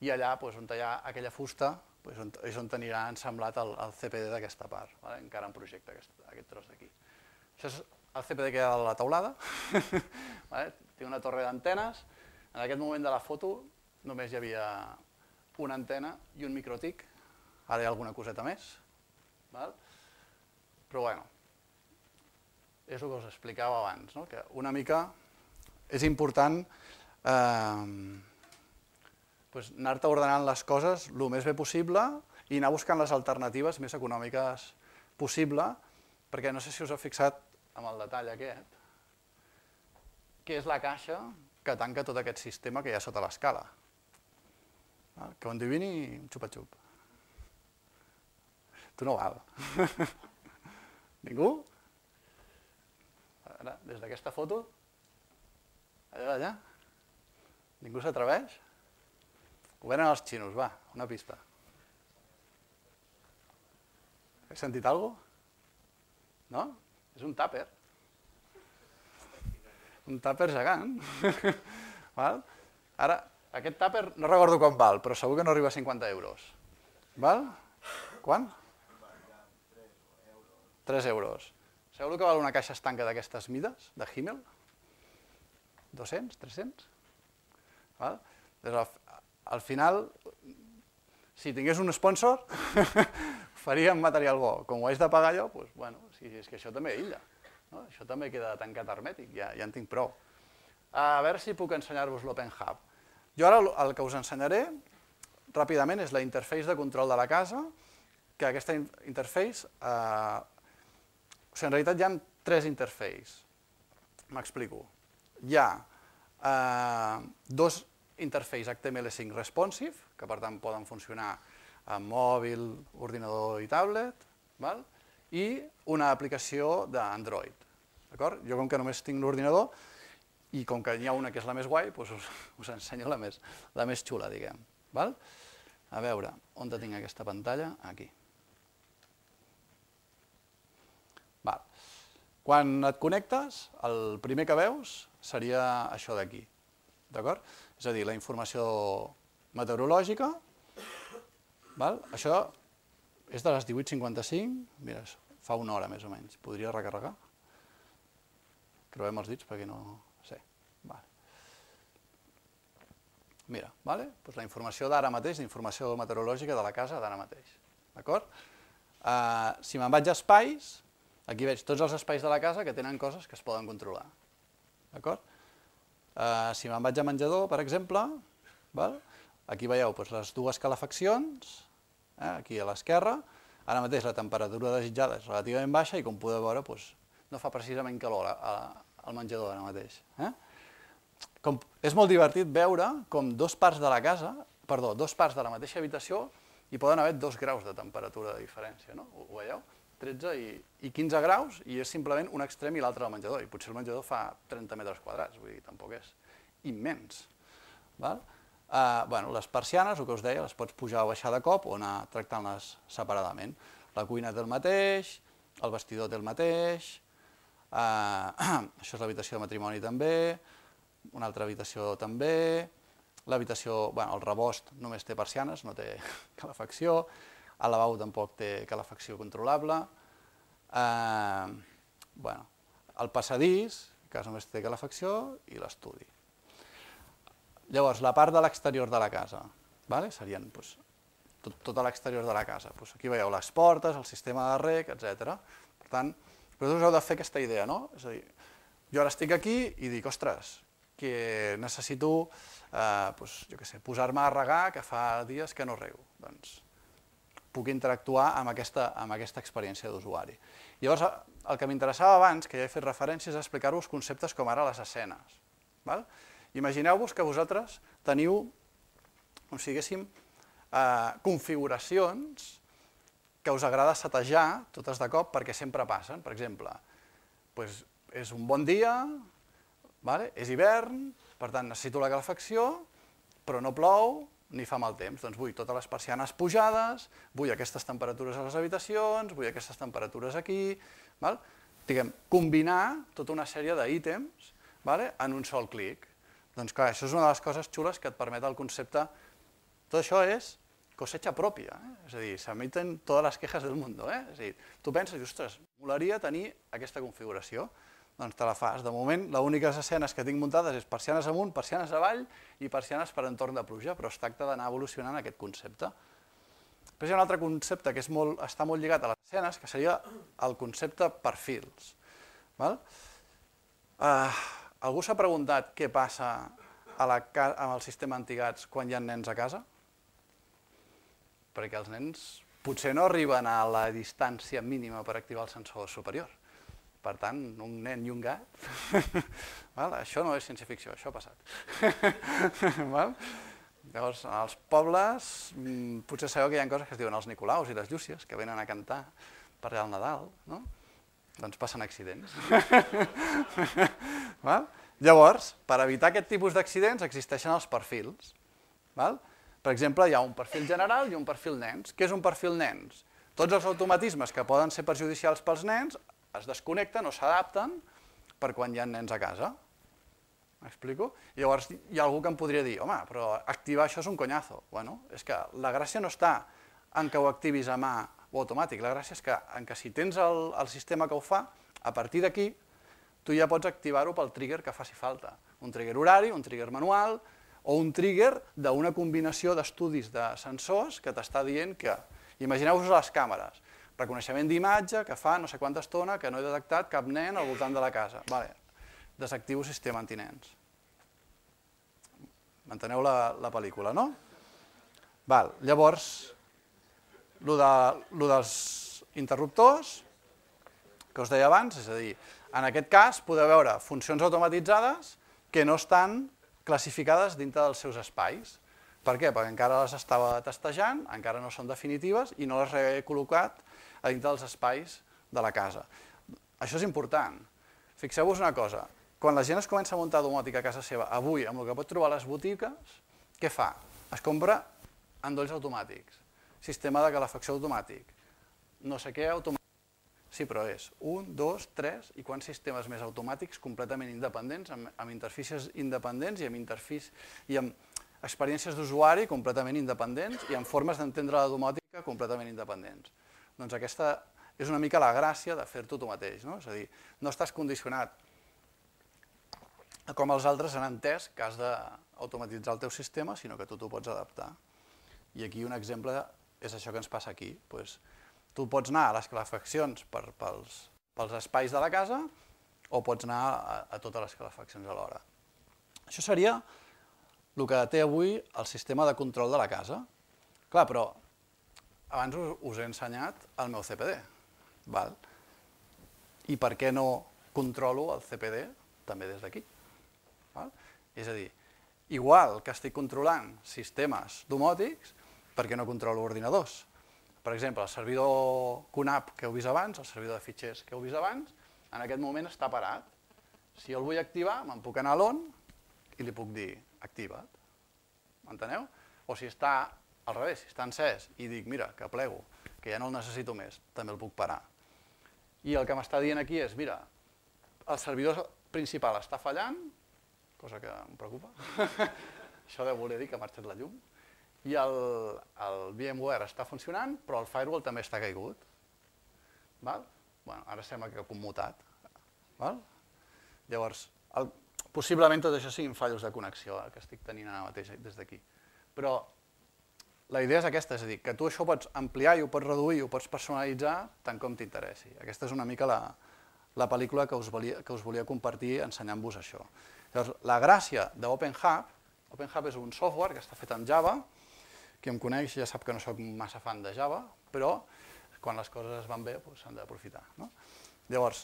i allà on hi ha aquella fusta és on anirà ensamblat el CPD d'aquesta part, encara en projecte aquest tros d'aquí. Això és el CPD que hi ha a la teulada, té una torre d'antenes, en aquest moment de la foto només hi havia una antena i un microtic, ara hi ha alguna coseta més, però bueno, és el que us explicava abans, que una mica és important anar-te ordenant les coses el més bé possible i anar buscant les alternatives més econòmiques possible, perquè no sé si us heu fixat en el detall aquest, que és la caixa que tanca tot aquest sistema que hi ha sota l'escala. Que on divini un xupa-xup. Tu no val. Ningú? Ara, des d'aquesta foto, allà, ningú s'atreveix? Ho venen els xinos, va, una pista. Heu sentit alguna cosa? No? És un tàper. Un tàper gegant. Ara, aquest tàper no recordo quan val, però segur que no arriba a 50 euros. Val? Quan? 3 euros. Sabeu que val una caixa estanca d'aquestes mides, de Himmel? 200? 300? Al final, si tingués un sponsor, faríem material bo. Com ho haig de pagar jo, doncs, bueno, és que això també aïlla. Això també queda tancat hermètic, ja en tinc prou. A veure si puc ensenyar-vos l'Open Hub. Jo ara el que us ensenyaré ràpidament és la interface de control de la casa, que aquesta interface, en realitat hi ha 3 interfaces. M'explico. Hi ha 2 interface HTML5 responsive, que per tant poden funcionar amb mòbil, ordinador i tablet, i una aplicació d'Android. Jo com que només tinc l'ordinador i com que n'hi ha una que és la més guai, us ensenyo la més xula, diguem. A veure, on tinc aquesta pantalla? Aquí. Quan et connectes, el primer que veus seria això d'aquí. És a dir, la informació meteorològica. Això és de les 18:55, mira, fa una hora més o menys. Podria recarregar? Creuem els dits perquè no sé. Mira, la informació d'ara mateix, la informació meteorològica de la casa d'ara mateix. D'acord? Si me'n vaig a espais, aquí veig tots els espais de la casa que tenen coses que es poden controlar. D'acord? Si me'n vaig a menjador, per exemple, aquí veieu les 2 calefaccions, aquí a l'esquerra, ara mateix la temperatura desitjada és relativament baixa i com podeu veure no fa precisament calor al menjador ara mateix. És molt divertit veure com 2 parts de la casa, perdó, 2 parts de la mateixa habitació hi poden haver 2 graus de temperatura de diferència, no? Ho veieu? 13 i 15 graus i és simplement un extrem i l'altre del menjador, i potser el menjador fa 30 metres quadrats, vull dir, tampoc és immens. Les persianes, el que us deia, les pots pujar o baixar de cop o anar tractant-les separadament. La cuina té el mateix, el vestidor té el mateix, això és l'habitació de matrimoni també, una altra habitació també, l'habitació, el rebost només té persianes, no té calefacció, el lavabo tampoc té calefacció controlable, el passadís, que només té calefacció, i l'estudi. Llavors, la part de l'exterior de la casa, serien tot l'exterior de la casa. Aquí veieu les portes, el sistema de reg, etc. Per tant, vosaltres heu de fer aquesta idea, no? És a dir, jo ara estic aquí i dic, ostres, que necessito, jo què sé, posar-me a regar, que fa dies que no rego. Doncs puc interactuar amb aquesta experiència d'usuari. Llavors, el que m'interessava abans, que ja he fet referència, és explicar-vos conceptes com ara les escenes. Imagineu-vos que vosaltres teniu, com si diguéssim, configuracions que us agrada setejar totes de cop perquè sempre passen. Per exemple, és un bon dia, És hivern, per tant necessito la calefacció, però no plou ni fa mal temps. Doncs vull totes les persianes pujades, vull aquestes temperatures a les habitacions, vull aquestes temperatures aquí. Diguem, combinar tota una sèrie d'ítems en un sol clic. Doncs clar, això és una de les coses xules que et permet el concepte. Tot això és cosecha pròpia, és a dir, s'emiten totes les quejes del món. És a dir, tu penses, ostres, molaria tenir aquesta configuració. Doncs te la fas. De moment, les úniques escenes que tinc muntades és persianes amunt, persianes avall i persianes per entorn de pluja, però es tracta d'anar evolucionant aquest concepte. Després hi ha un altre concepte que està molt lligat a les escenes, que seria el concepte perfils. Algú s'ha preguntat què passa amb el sistema antigats quan hi ha nens a casa? Perquè els nens potser no arriben a la distància mínima per activar el sensor superior. Per tant, un nen i un gat, això no és ciència-ficció, això ha passat. Llavors, als pobles, potser sabeu que hi ha coses que es diuen els Nicolaus i les Llúcies, que venen a cantar per allà al Nadal, doncs passen accidents. Llavors, per evitar aquest tipus d'accidents, existeixen els perfils. Per exemple, hi ha un perfil general i un perfil nens. Què és un perfil nens? Tots els automatismes que poden ser perjudicials pels nens es desconnecten o s'adapten per quan hi ha nens a casa. M'explico? Llavors hi ha algú que em podria dir, home, però activar això és un conyazo. Bueno, és que la gràcia no està en que ho activis a mà o automàtic, la gràcia és que si tens el sistema que ho fa, a partir d'aquí tu ja pots activar-ho pel trigger que faci falta. Un trigger horari, un trigger manual o un trigger d'una combinació d'estudis de sensors que t'està dient que, imagineu-vos les càmeres, reconeixement d'imatge que fa no sé quanta estona que no he detectat cap nen al voltant de la casa. Desactivo sistema antinens. M'enteneu la pel·lícula, no? Llavors, el dels interruptors, que us deia abans, és a dir, en aquest cas podeu veure funcions automatitzades que no estan classificades dintre dels seus espais. Per què? Perquè encara les estava testejant, encara no són definitives i no les he col·locat a dintre dels espais de la casa. Això és important. Fixeu-vos una cosa, quan la gent es comença a muntar domòtica a casa seva, avui, amb el que pot trobar a les botigues, què fa? Es compra endolls automàtics, sistema de calefacció automàtic, no sé què automàtic. Sí, però és 1, 2, 3 i quants sistemes més automàtics completament independents, amb interfícies independents i amb experiències d'usuari completament independents i amb formes d'entendre la domòtica completament independents. Doncs aquesta és una mica la gràcia de fer-ho tu mateix, és a dir, no estàs condicionat a com els altres han entès que has d'automatitzar el teu sistema, sinó que tu t'ho pots adaptar. I aquí un exemple és això que ens passa aquí. Tu pots anar a les calefaccions pels espais de la casa o pots anar a totes les calefaccions alhora. Això seria el que té avui el sistema de control de la casa. Clar, però abans us he ensenyat el meu CPD. I per què no controlo el CPD també des d'aquí? És a dir, igual que estic controlant sistemes domòtics, per què no controlo ordinadors? Per exemple, el servidor QNAP que heu vist abans, el servidor de fitxers que heu vist abans, en aquest moment està parat. Si jo el vull activar, me'n puc anar a l'on i li puc dir activa't. M'enteneu? O si està al revés, si està encès i dic, mira, que plego, que ja no el necessito més, també el puc parar. I el que m'està dient aquí és, mira, el servidor principal està fallant, cosa que em preocupa, això deu voler dir que ha marxat la llum, i el VMware està funcionant, però el firewall també està caigut. Ara sembla que ha commutat. Llavors, possiblement tot això siguin fallos de connexió que estic tenint ara mateix des d'aquí. Però la idea és aquesta, és a dir, que tu això ho pots ampliar i ho pots reduir, ho pots personalitzar tant com t'interessi. Aquesta és una mica la pel·lícula que us volia compartir ensenyant-vos això. Llavors, la gràcia d'OpenHub, OpenHub és un software que està fet en Java, qui em coneix ja sap que no soc massa fan de Java, però quan les coses es van bé s'han d'aprofitar. Llavors,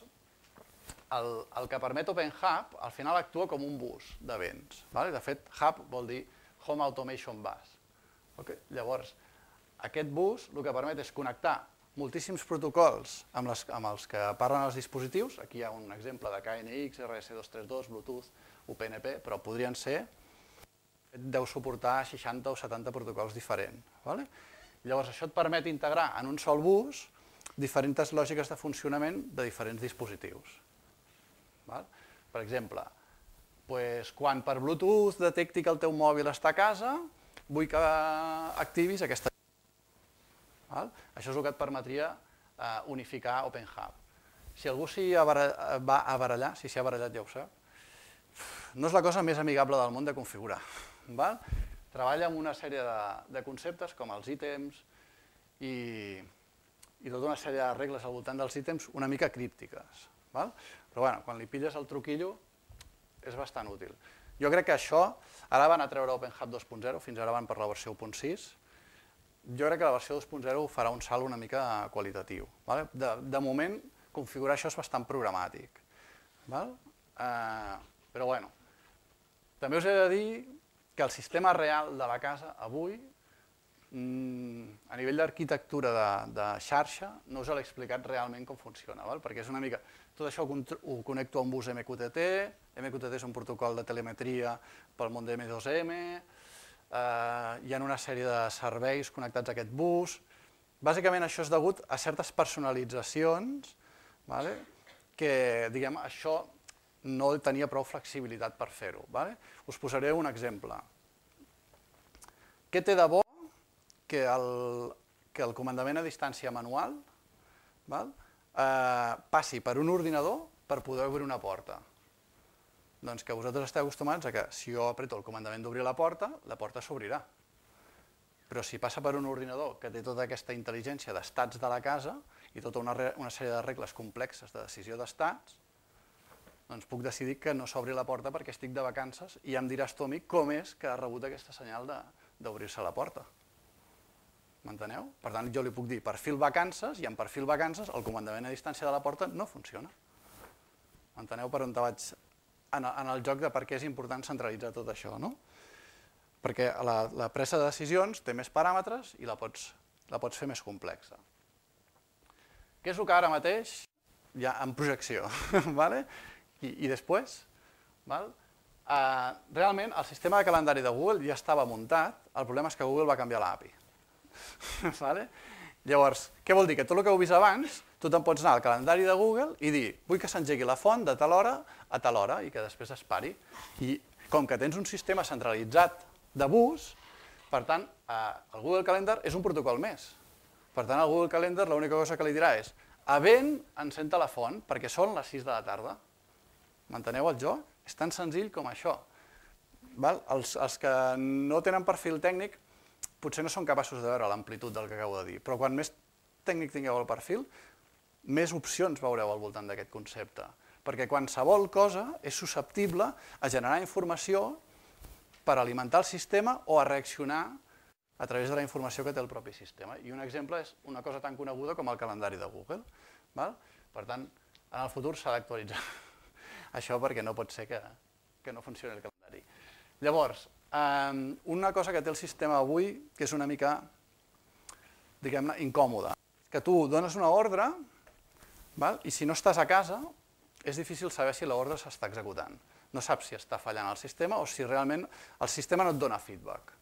el que permet OpenHub al final actua com un bus d'events. De fet, Hub vol dir Home Automation Bus. Llavors, aquest bus el que permet és connectar moltíssims protocols amb els que parlen els dispositius. Aquí hi ha un exemple de KNX, RS232, Bluetooth, UPnP, però podrien ser, deu suportar 60 o 70 protocols diferents. Llavors, això et permet integrar en un sol bus diferents lògiques de funcionament de diferents dispositius. Per exemple, quan per Bluetooth detecti que el teu mòbil està a casa, vull que activis aquesta. Això és el que et permetria unificar OpenHub. Si algú s'hi va a barallar, si s'hi ha barallat ja ho sap, no és la cosa més amigable del món de configurar. Treballa amb una sèrie de conceptes com els ítems i tota una sèrie de regles al voltant dels ítems una mica críptiques. Però quan li pilles el truquillo és bastant útil. Jo crec que això, ara van a treure OpenHub 2.0, fins ara van per la versió 1.6, jo crec que la versió 2.0 farà un salt una mica qualitatiu. De moment, configurar això és bastant programàtic. Però bueno, també us he de dir que el sistema real de la casa avui, a nivell d'arquitectura de xarxa, no us l'he explicat realment com funciona, perquè és una mica... Tot això ho connecto a un bus MQTT, MQTT és un protocol de telemetria pel món de M2M, hi ha una sèrie de serveis connectats a aquest bus. Bàsicament això és degut a certes personalitzacions que, diguem, això no tenia prou flexibilitat per fer-ho. Us posaré un exemple. Què té de bo que el comandament a distància manual passi per un ordinador per poder obrir una porta? Doncs que vosaltres esteu acostumats a que si jo apreto el comandament d'obrir la porta s'obrirà. Però si passa per un ordinador que té tota aquesta intel·ligència d'estats de la casa i tota una sèrie de regles complexes de decisió d'estats, doncs puc decidir que no s'obri la porta perquè estic de vacances i ja em diràs tu a mi com és que ha rebut aquesta senyal d'obrir-se la porta. M'enteneu? Per tant, jo li puc dir perfil vacances i en perfil vacances el comandament a distància de la porta no funciona. M'enteneu per on te vaig en el joc de per què és important centralitzar tot això, no? Perquè la presa de decisions té més paràmetres i la pots fer més complexa. Què és el que ara mateix hi ha en projecció? I després, realment el sistema de calendari de Google ja estava muntat, el problema és que Google va canviar l'API. Llavors, què vol dir? Que tot el que heu vist abans, tu te'n pots anar al calendari de Google i dir vull que s'engegui la font de tal hora a tal hora i que després es pari. I com que tens un sistema centralitzat de bus, per tant, el Google Calendar és un protocol més. Per tant, el Google Calendar l'única cosa que li dirà és havent encén la font perquè són les 6 de la tarda. M'enteneu el joc? És tan senzill com això. Els que no tenen perfil tècnic potser no són capaços de veure l'amplitud del que acabo de dir, però quan més tècnic tingueu el perfil, més opcions veureu al voltant d'aquest concepte. Perquè qualsevol cosa és susceptible a generar informació per alimentar el sistema o a reaccionar a través de la informació que té el propi sistema. I un exemple és una cosa tan coneguda com el calendari de Google. Per tant, en el futur s'ha d'actualitzar això perquè no pot ser que no funcioni el calendari. Llavors, una cosa que té el sistema avui, que és una mica, diguem-ne, incòmoda, que tu dones una ordre i si no estàs a casa és difícil saber si l'ordre s'està executant. No saps si està fallant el sistema o si realment el sistema no et dona feedback.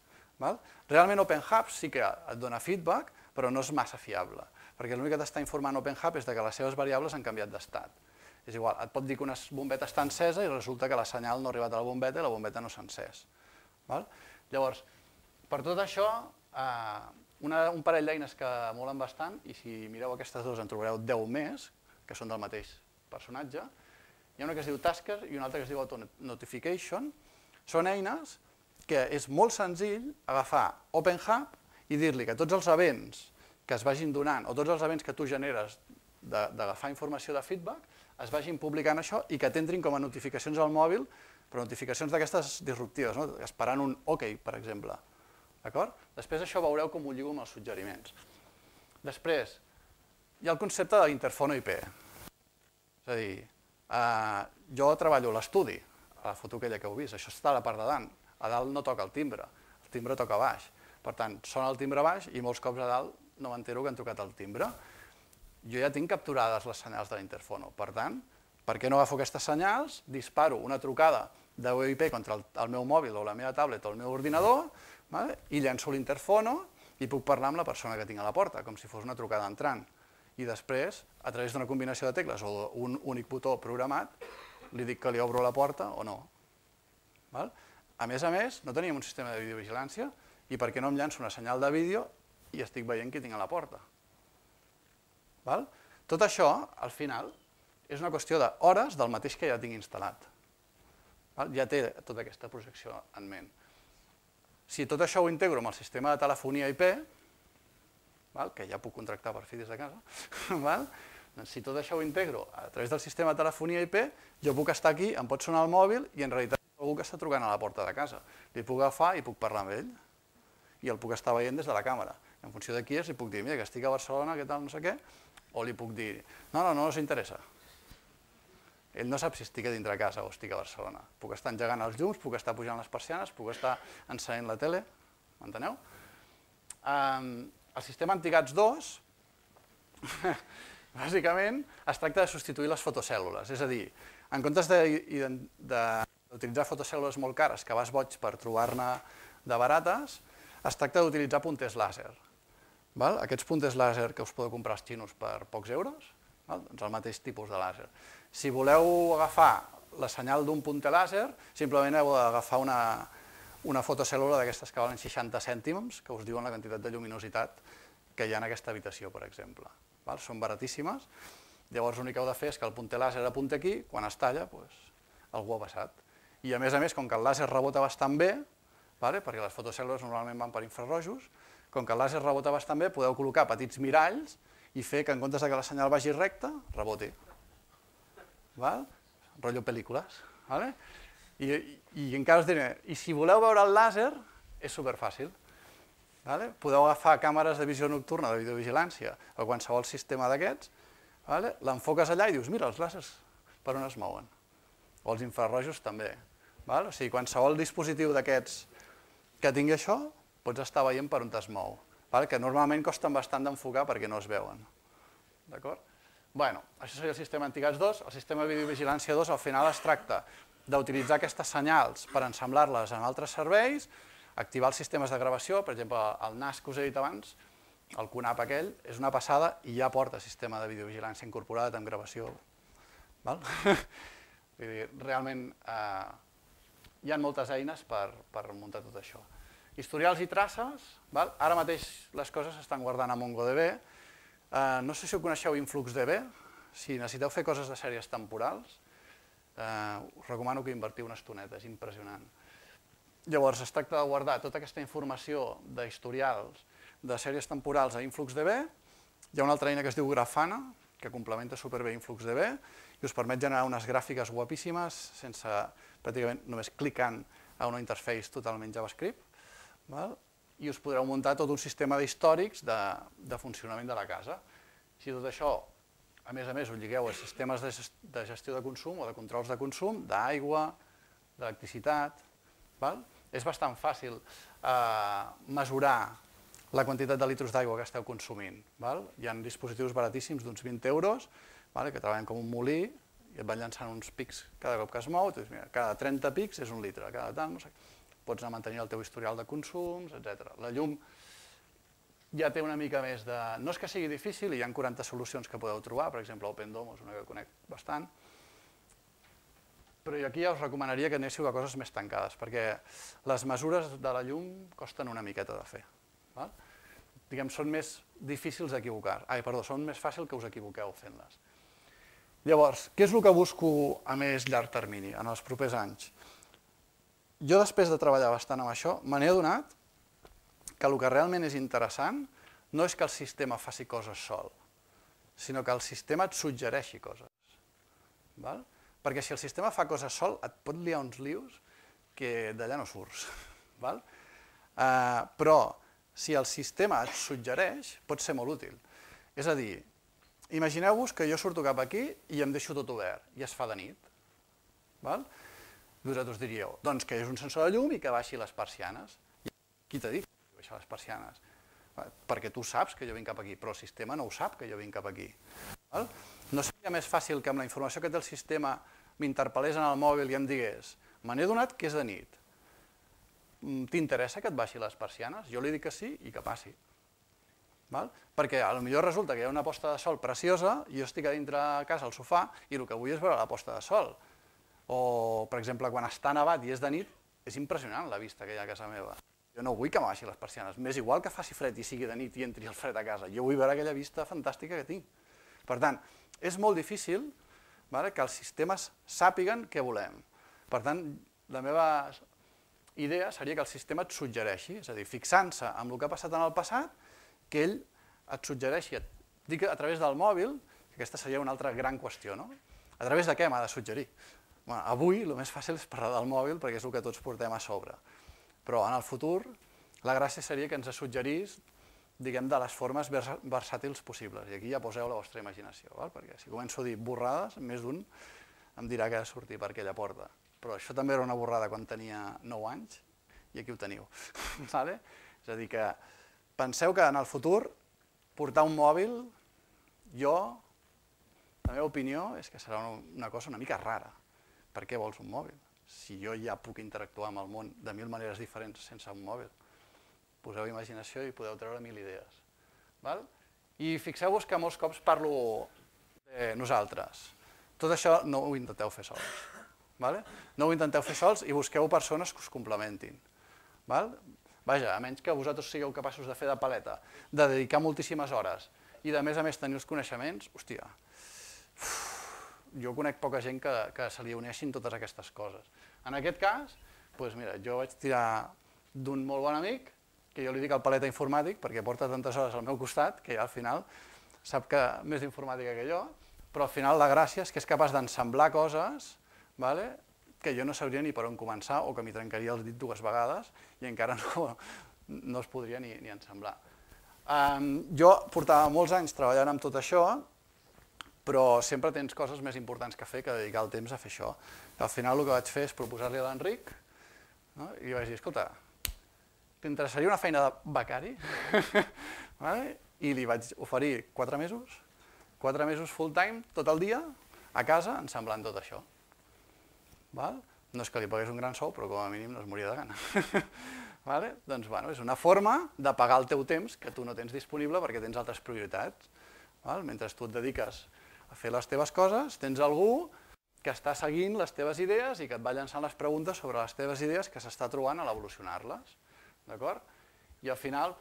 Realment OpenHub sí que et dona feedback, però no és massa fiable, perquè l'únic que t'està informant OpenHub és que les seves variables han canviat d'estat. És igual, et pot dir que una bombeta està encesa i resulta que la senyal no ha arribat a la bombeta i la bombeta no s'ha encès. Llavors, per tot això, un parell d'eines que molen bastant, i si mireu aquestes dues en trobareu 10 més, que són del mateix personatge, hi ha una que es diu Tasker i una altra que es diu Auto-Notification. Són eines que és molt senzill agafar OpenHub i dir-li que tots els events que es vagin donant, o tots els events que tu generes d'agafar informació de feedback, es vagin publicant això i que t'entrin com a notificacions al mòbil, però notificacions d'aquestes disruptives, esperant un OK, per exemple. Després això veureu com ho lligo amb els suggeriments. Després, hi ha el concepte de l'interfono IP. És a dir, jo treballo a l'estudi, a la foto aquella que heu vist, això està a la part de dalt. A dalt no toca el timbre toca a baix. Per tant, sona el timbre a baix i molts cops a dalt no m'entero que han trucat el timbre. jo ja tinc capturades les senyals de l'interfono. Per tant, per què no agafo aquestes senyals, disparo una trucada de VoIP contra el meu mòbil o la meva tablet o el meu ordinador, i llenço l'interfono i puc parlar amb la persona que tinc a la porta, com si fos una trucada entrant. I després, a través d'una combinació de tecles o d'un únic botó programat, li dic que li obro la porta o no. A més, no teníem un sistema de videovigilància i per què no em llanço una senyal de vídeo i estic veient qui tinc a la porta. Tot això, al final, és una qüestió d'hores del mateix que ja tinc instal·lat. Ja té tota aquesta projecció en ment. Si tot això ho integro amb el sistema de telefonia IP, que ja puc contractar per fi des de casa, si tot això ho integro a través del sistema de telefonia IP, jo puc estar aquí, em pot sonar el mòbil i en realitat algú que està trucant a la porta de casa. Li puc agafar i puc parlar amb ell i el puc estar veient des de la càmera. En funció de qui és, li puc dir, mira, que estic a Barcelona, què tal, no sé què, o li puc dir, no us interessa. Ell no sap si estic a dintre de casa o estic a Barcelona. Puc estar engegant els llums, puc estar pujant les persianes, puc estar encenent la tele, m'enteneu? El sistema Antigats 2, bàsicament, es tracta de substituir les fotocèl·lules. És a dir, en comptes d'utilitzar fotocèl·lules molt cares, que vas boig per trobar-ne de barates, es tracta d'utilitzar punters làser. Aquests punters làser que us podeu comprar als xinos per pocs euros, doncs el mateix tipus de làser. Si voleu agafar la senyal d'un punter làser, simplement heu d'agafar una fotocèl·lula d'aquestes que valen 60 cèntims, que us diuen la quantitat de lluminositat que hi ha en aquesta habitació, per exemple. Són baratíssimes. Llavors l'únic que heu de fer és que el punter làser apunti aquí, quan es talla, algú ha passat. I a més, com que el làser rebota bastant bé, perquè les fotocèl·lules normalment van per infrarrojos, com que el làser rebota bastant bé, podeu col·locar petits miralls i fer que en comptes que la senyal vagi recta, reboti. Rotllo pel·lícules. I encara us diré, i si voleu veure el làser, és superfàcil. Podeu agafar càmeres de visió nocturna de videovigilància o qualsevol sistema d'aquests, l'enfoques allà i dius, mira, els làsers per on es mouen. O els infrarrojos també. O sigui, qualsevol dispositiu d'aquests que tingui això, pots estar veient per on es mou, que normalment costen bastant d'enfocar perquè no es veuen. D'acord? Bé, això seria el sistema Antigats 2. El sistema de videovigilància 2 al final es tracta d'utilitzar aquestes senyals per ensamblar-les en altres serveis, activar els sistemes de gravació, per exemple, el NAS que us he dit abans, el QNAP aquell, és una passada i ja porta sistema de videovigilància incorporat amb gravació. Realment hi ha moltes eines per muntar tot això. Historials i traces, ara mateix les coses s'estan guardant a MongoDB. No sé si ho coneixeu InfluxDB, si necessiteu fer coses de sèries temporals, us recomano que invertiu una estoneta, és impressionant. Llavors es tracta de guardar tota aquesta informació d'historials de sèries temporals a InfluxDB. Hi ha una altra eina que es diu Grafana, que complementa superbé InfluxDB i us permet generar unes gràfiques guapíssimes sense, pràcticament, només clicant a una interface totalment JavaScript. I us podreu muntar tot un sistema d'històrics de funcionament de la casa. Si tot això, a més, ho lligueu a sistemes de gestió de consum o de controls de consum, d'aigua, d'electricitat, és bastant fàcil mesurar la quantitat de litros d'aigua que esteu consumint. Hi ha dispositius baratíssims d'uns 20 euros que treballen com un molí i et van llançant uns pics cada cop que es mou. Cada 30 pics és un litre, cada tant, no sé. Pots anar mantenint el teu historial de consums, etc. La llum ja té una mica més de... No és que sigui difícil, hi ha 40 solucions que podeu trobar, per exemple, OpenDOM és una que conec bastant, però aquí ja us recomanaria que anéssiu a coses més tancades, perquè les mesures de la llum costen una miqueta de fer. Diguem, són més difícils d'equivocar. Són més fàcil que us equivoqueu fent-les. Llavors, què és el que busco a més llarg termini, en els propers anys? Jo, després de treballar bastant amb això, me n'he adonat que el que realment és interessant no és que el sistema faci coses sol, sinó que el sistema et suggereixi coses. Perquè si el sistema fa coses sol, et pot liar uns lius que d'allà no surts. Però si el sistema et suggereix, pot ser molt útil. És a dir, imagineu-vos que jo surto cap aquí i em deixo tot obert i es fa de nit. Vosaltres diríeu, doncs que és un sensor de llum i que baixi les persianes. Qui t'ha dit que baixar les persianes? perquè tu saps que jo vinc cap aquí, però el sistema no ho sap que jo vinc cap aquí. No seria més fàcil que amb la informació que té el sistema m'interpel·lés en el mòbil i em digués me n'he donat que és de nit, t'interessa que et baixi les persianes? Jo li dic que sí i que passi. Perquè potser resulta que hi ha una posta de sol preciosa i jo estic a dintre a casa al sofà i el que vull és veure la posta de sol. O, per exemple, quan està nevat i és de nit, és impressionant la vista que hi ha a casa meva. Jo no vull que m'abaixi les persianes. M'és igual que faci fred i sigui de nit i entri el fred a casa. Jo vull veure aquella vista fantàstica que tinc. Per tant, és molt difícil que els sistemes sàpiguen què volem. Per tant, la meva idea seria que el sistema et suggereixi, és a dir, fixant-se en el que ha passat en el passat, que ell et suggereixi, dic a través del mòbil, que aquesta seria una altra gran qüestió, no? A través de què m'ha de suggerir? Avui el més fàcil és parlar del mòbil perquè és el que tots portem a sobre. Però en el futur la gràcia seria que ens suggerís, diguem, de les formes versàtils possibles. I aquí ja poseu la vostra imaginació, perquè si començo a dir borrades, més d'un em dirà que ha de sortir per aquella porta. Però això també era una borrada quan tenia 9 anys i aquí ho teniu. És a dir que penseu que en el futur portar un mòbil, la meva opinió és que serà una cosa una mica rara. Per què vols un mòbil? Si jo ja puc interactuar amb el món de 1000 maneres diferents sense un mòbil. Poseu imaginació i podeu treure 1000 idees. I fixeu-vos que molts cops parlo de nosaltres. Tot això no ho intenteu fer sols. No ho intenteu fer sols i busqueu persones que us complementin. Vaja, a menys que vosaltres sigueu capaços de fer de paleta, de dedicar moltíssimes hores i de més a més tenir els coneixements, hòstia, jo conec poca gent que se li uneixin totes aquestes coses. En aquest cas, jo vaig tirar d'un molt bon amic, que jo li dic el paleta informàtic, perquè porta tantes hores al meu costat, que ja al final sap que més d'informàtica que jo, però al final la gràcia és que és capaç d'ensamblar coses que jo no sabria ni per on començar o que m'hi trencaria el dit 2 vegades i encara no es podria ni ensamblar. Jo portava molts anys treballant amb tot això, però sempre tens coses més importants que fer que dedicar el temps a fer això. Al final el que vaig fer és proposar-li a l'Enric i li vaig dir, escolta, t'interessaria una feina de becari? I li vaig oferir 4 mesos, 4 mesos full time, tot el dia, a casa, ensamblant tot això. No és que li pagués un gran sou, però com a mínim no es moria de gana. Doncs és una forma de pagar el teu temps que tu no tens disponible perquè tens altres prioritats. Mentre tu et dediques a fer les teves coses, tens algú que està seguint les teves idees i que et va llançant les preguntes sobre les teves idees que s'està trobant a l'evolucionar-les. I al final,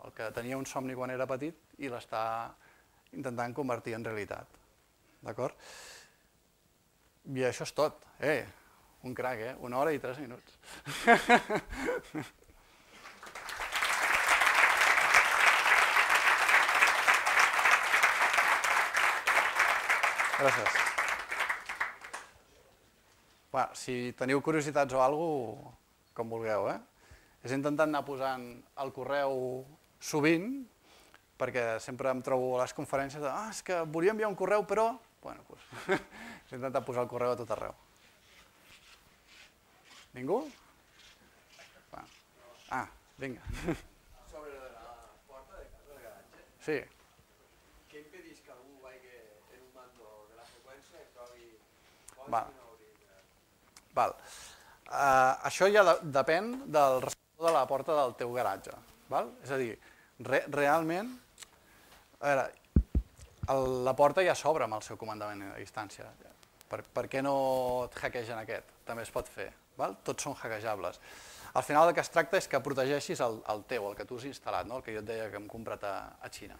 el que tenia un somni quan era petit i l'està intentant convertir en realitat. I això és tot. Un crac, 1 hora i 3 minuts. Gràcies. Si teniu curiositats o alguna cosa, com vulgueu. He intentat anar posant el correu sovint, perquè sempre em trobo a les conferències de és que volia enviar un correu, però... He intentat posar el correu a tot arreu. Ningú? Vinga. Sobre la porta de casa del garatge. Sí. Què impedeix que algú vagi en un mando de la freqüència i trobi coses que no hauria de... Això ja depèn del receptor de la porta del teu garatge. És a dir, realment, la porta ja s'obre amb el seu comandament a distància. Per què no et hackegen aquest? També es pot fer. Tots són hackejables. Al final el que es tracta és que protegeixis el teu, el que tu has instal·lat, el que jo et deia que hem comprat a Xina.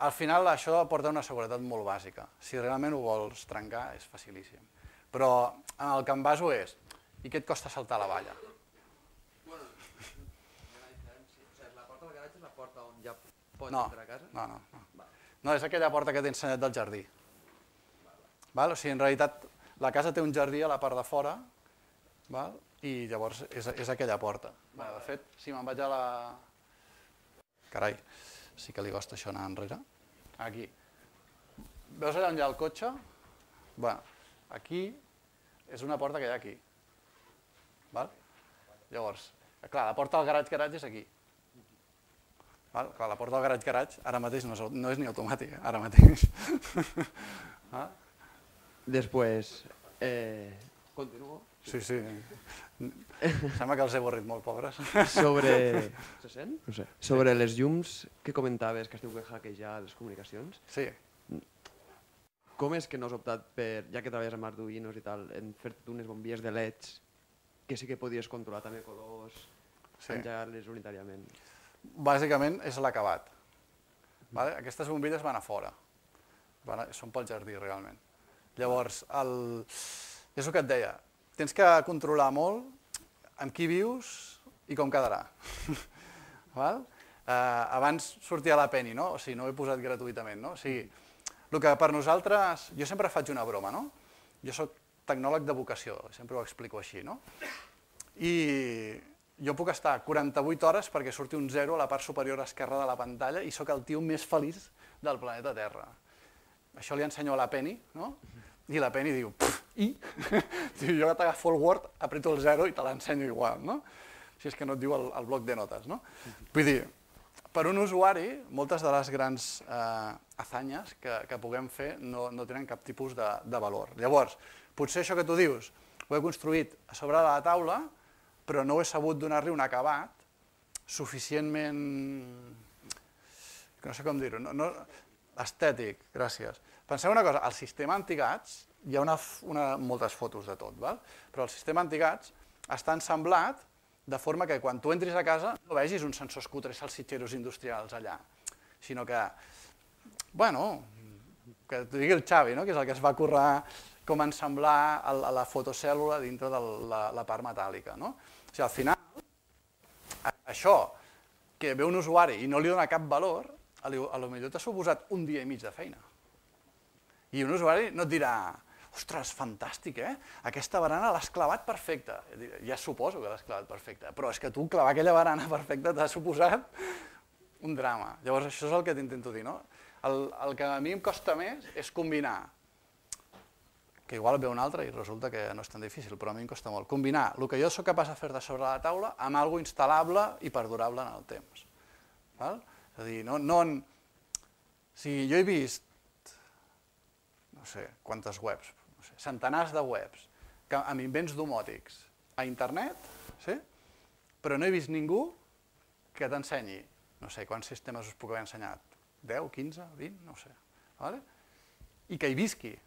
Al final això aporta una seguretat molt bàsica. Si realment ho vols trencar és facilíssim. Però el que em baso és, i què et costa saltar la valla? Bueno, la porta del garatge és la porta on ja pots entrar a casa? No. No, és aquella porta que t'he ensenyat del jardí. O sigui, en realitat, la casa té un jardí a la part de fora, i llavors és aquella porta. De fet, si me'n vaig a la... Carai, sí que li costa això anar enrere. Aquí. Veus allà on hi ha el cotxe? Aquí és una porta que hi ha aquí. Llavors, clar, la porta del garatge és aquí. Clar, la porta del garatge ara mateix no és ni automàtica, ara mateix. Després, continuo. Sí. Sembla que els he avorrit molt, pobres. Sobre... Se sent? No sé. Sobre les llums que comentaves que esteu hackejant les comunicacions. Sí. Com és que no has optat per, ja que treballes amb Arduinos i tal, en fer-te unes bombilles de LEDs que sí que podies controlar també colors, engegar-les unitàriament? Bàsicament és l'acabat. Aquestes bombilles van a fora. Són pel jardí, realment. Llavors, és el que et deia, tens que controlar molt amb qui vius i com quedarà. Abans sortia la Penny, no? O sigui, no ho he posat gratuïtament, no? O sigui, el que per nosaltres... Jo sempre faig una broma, no? Jo soc tecnòleg de vocació, sempre ho explico així, no? I jo puc estar 48 hores perquè surti un 0 a la part superior esquerra de la pantalla i sóc el tio més feliç del planeta Terra. Això li ensenyo a la Penny, no? I la Penny diu, i? Jo t'agafo el Word, aprieto el 0 i te l'ensenyo igual, no? Si és que no et diu el bloc de notes, no? Vull dir, per un usuari, moltes de les grans hazañes que puguem fer no tenen cap tipus de valor. Llavors, potser això que tu dius ho he construït a sobre de la taula, però no he sabut donar-li un acabat suficientment... no sé com dir-ho, estètic, gràcies. Penseu una cosa, al sistema antigats hi ha moltes fotos de tot, però el sistema antigats està ensamblat de forma que quan tu entris a casa no vegis uns sensors cutres salsitxeros industrials allà, sinó que, bueno, que t'ho digui el Xavi, que és el que es va currar com ensamblar la fotocèl·lula dintre de la part metàl·lica. O sigui, al final, això que ve un usuari i no li dona cap valor, potser t'ha suposat un dia i mig de feina. I un usuari no et dirà, ostres, fantàstic, aquesta barana l'has clavat perfecta. Ja suposo que l'has clavat perfecta, però és que tu clavar aquella barana perfecta t'ha suposat un drama. Llavors això és el que t'intento dir, no? El que a mi em costa més és combinar, que igual ve un altre i resulta que no és tan difícil, però a mi em costa molt, combinar el que jo sóc capaç de fer de sobre la taula amb alguna cosa instal·lable i perdurable en el temps. És a dir, jo he vist, no sé, quantes webs, centenars de webs amb invents domòtics a internet, però no he vist ningú que t'ensenyi, no sé, quants sistemes us puc haver ensenyat, 10, 15, 20, no sé, i que hi visqui.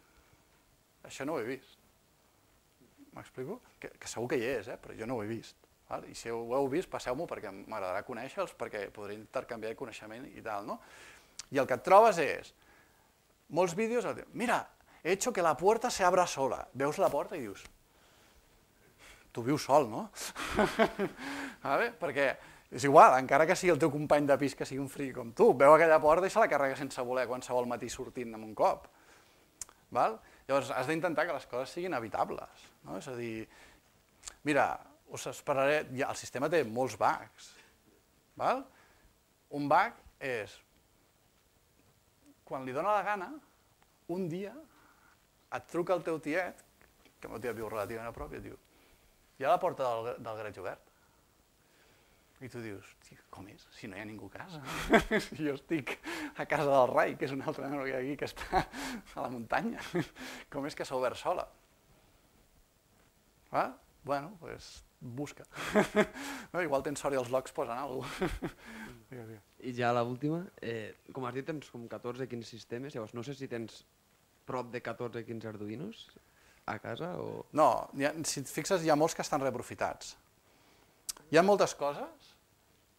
Això no ho he vist. M'explico? Que segur que hi és, però jo no ho he vist. I si ho heu vist, passeu-m'ho perquè m'agradarà conèixer-los, perquè podré intercanviar coneixement i tal, no? I el que et trobes és molts vídeos, mira, he hecho que la puerta se abra sola. Veus la porta i dius, tu vius sol, no? Perquè és igual, encara que sigui el teu company de pis que sigui un friqui com tu, veu aquella porta i se la carrega sense voler qualsevol matí sortint en un cop. Llavors has d'intentar que les coses siguin evitables. És a dir, mira, us esperaré, el sistema té molts bugs. Un bug és, quan li dóna la gana, un dia et truca el teu tiet, que el meu tiet viu relativament a prop, i et diu, hi ha la porta del garatge obert. I tu dius, com és? Si no hi ha ningú a casa. Si jo estic a casa del Rai, que és un altre nen aquí que està a la muntanya. Com és que s'ha obert sola? Bueno, doncs busca. Igual tens sort i els logs posen alguna cosa. I ja l'última, com has dit, tens com 14-15 sistemes, llavors no sé si tens prop de 14-15 Arduinos a casa o... No, si et fixes hi ha molts que estan reaprofitats. Hi ha moltes coses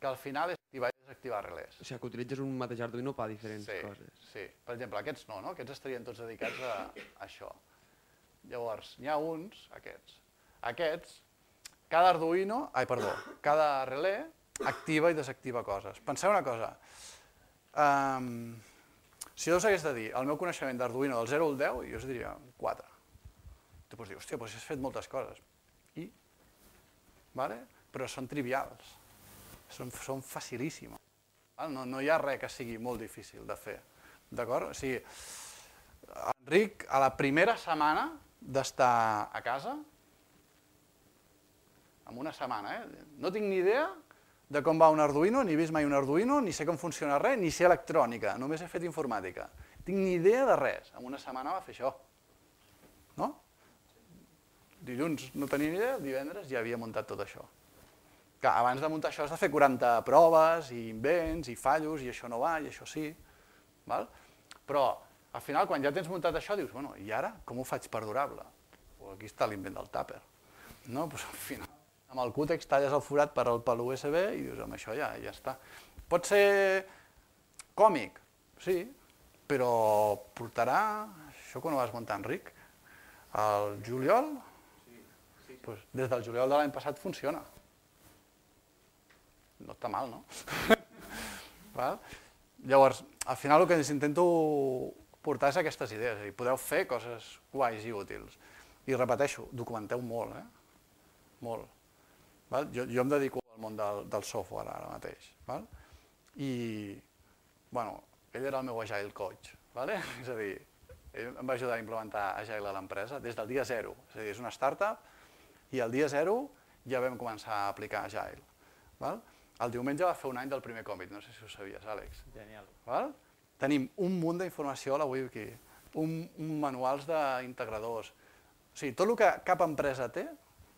que al final és activar i desactivar relés. O sigui, que utilitzes un mateix Arduino per a diferents coses. Sí, per exemple, aquests no, aquests estarien tots dedicats a això. Llavors, n'hi ha uns, aquests, cada relé activa i desactiva coses. Penseu una cosa, si jo us hagués de dir el meu coneixement d'Arduino del 0 al 10, jo us diria 4. Tu pots dir, hòstia, doncs has fet moltes coses. I? Però són trivials, són facilíssimes. No hi ha res que sigui molt difícil de fer. D'acord? O sigui, Enric, a la primera setmana d'estar a casa, en una setmana, no tinc ni idea de com va un Arduino, ni he vist mai un Arduino, ni sé com funciona res, ni sé electrònica, només he fet informàtica. Tinc ni idea de res. En una setmana va fer això. No? Dilluns no tenia ni idea, divendres ja havia muntat tot això. Clar, abans de muntar això has de fer 40 proves, i invents, i fallos, i això no va, i això sí. Val? Però al final, quan ja tens muntat això, dius, bueno, i ara com ho faig perdurable? Aquí està l'invent del tàper. No? Pues al final, amb el cútex talles el forat per al USB i dius, amb això ja està. Pot ser còmic, sí, però portarà, això quan ho vas muntar, Enric, al juliol? Pues des del juliol de l'any passat funciona. No està mal, no? Llavors, al final el que intento portar és aquestes idees, és a dir, podeu fer coses guais i útils. I repeteixo, documenteu molt, molt. Jo em dedico al món del software ara mateix. I, bueno, ell era el meu Agile coach, és a dir, ell em va ajudar a implementar Agile a l'empresa des del dia zero, és a dir, és una startup i el dia zero ja vam començar a aplicar Agile. El diumenge va fer un any del primer Commit, no sé si ho sabies, Àlex. Genial. Tenim un munt d'informació a la wiki, manuals d'integradors. O sigui, tot el que cap empresa té,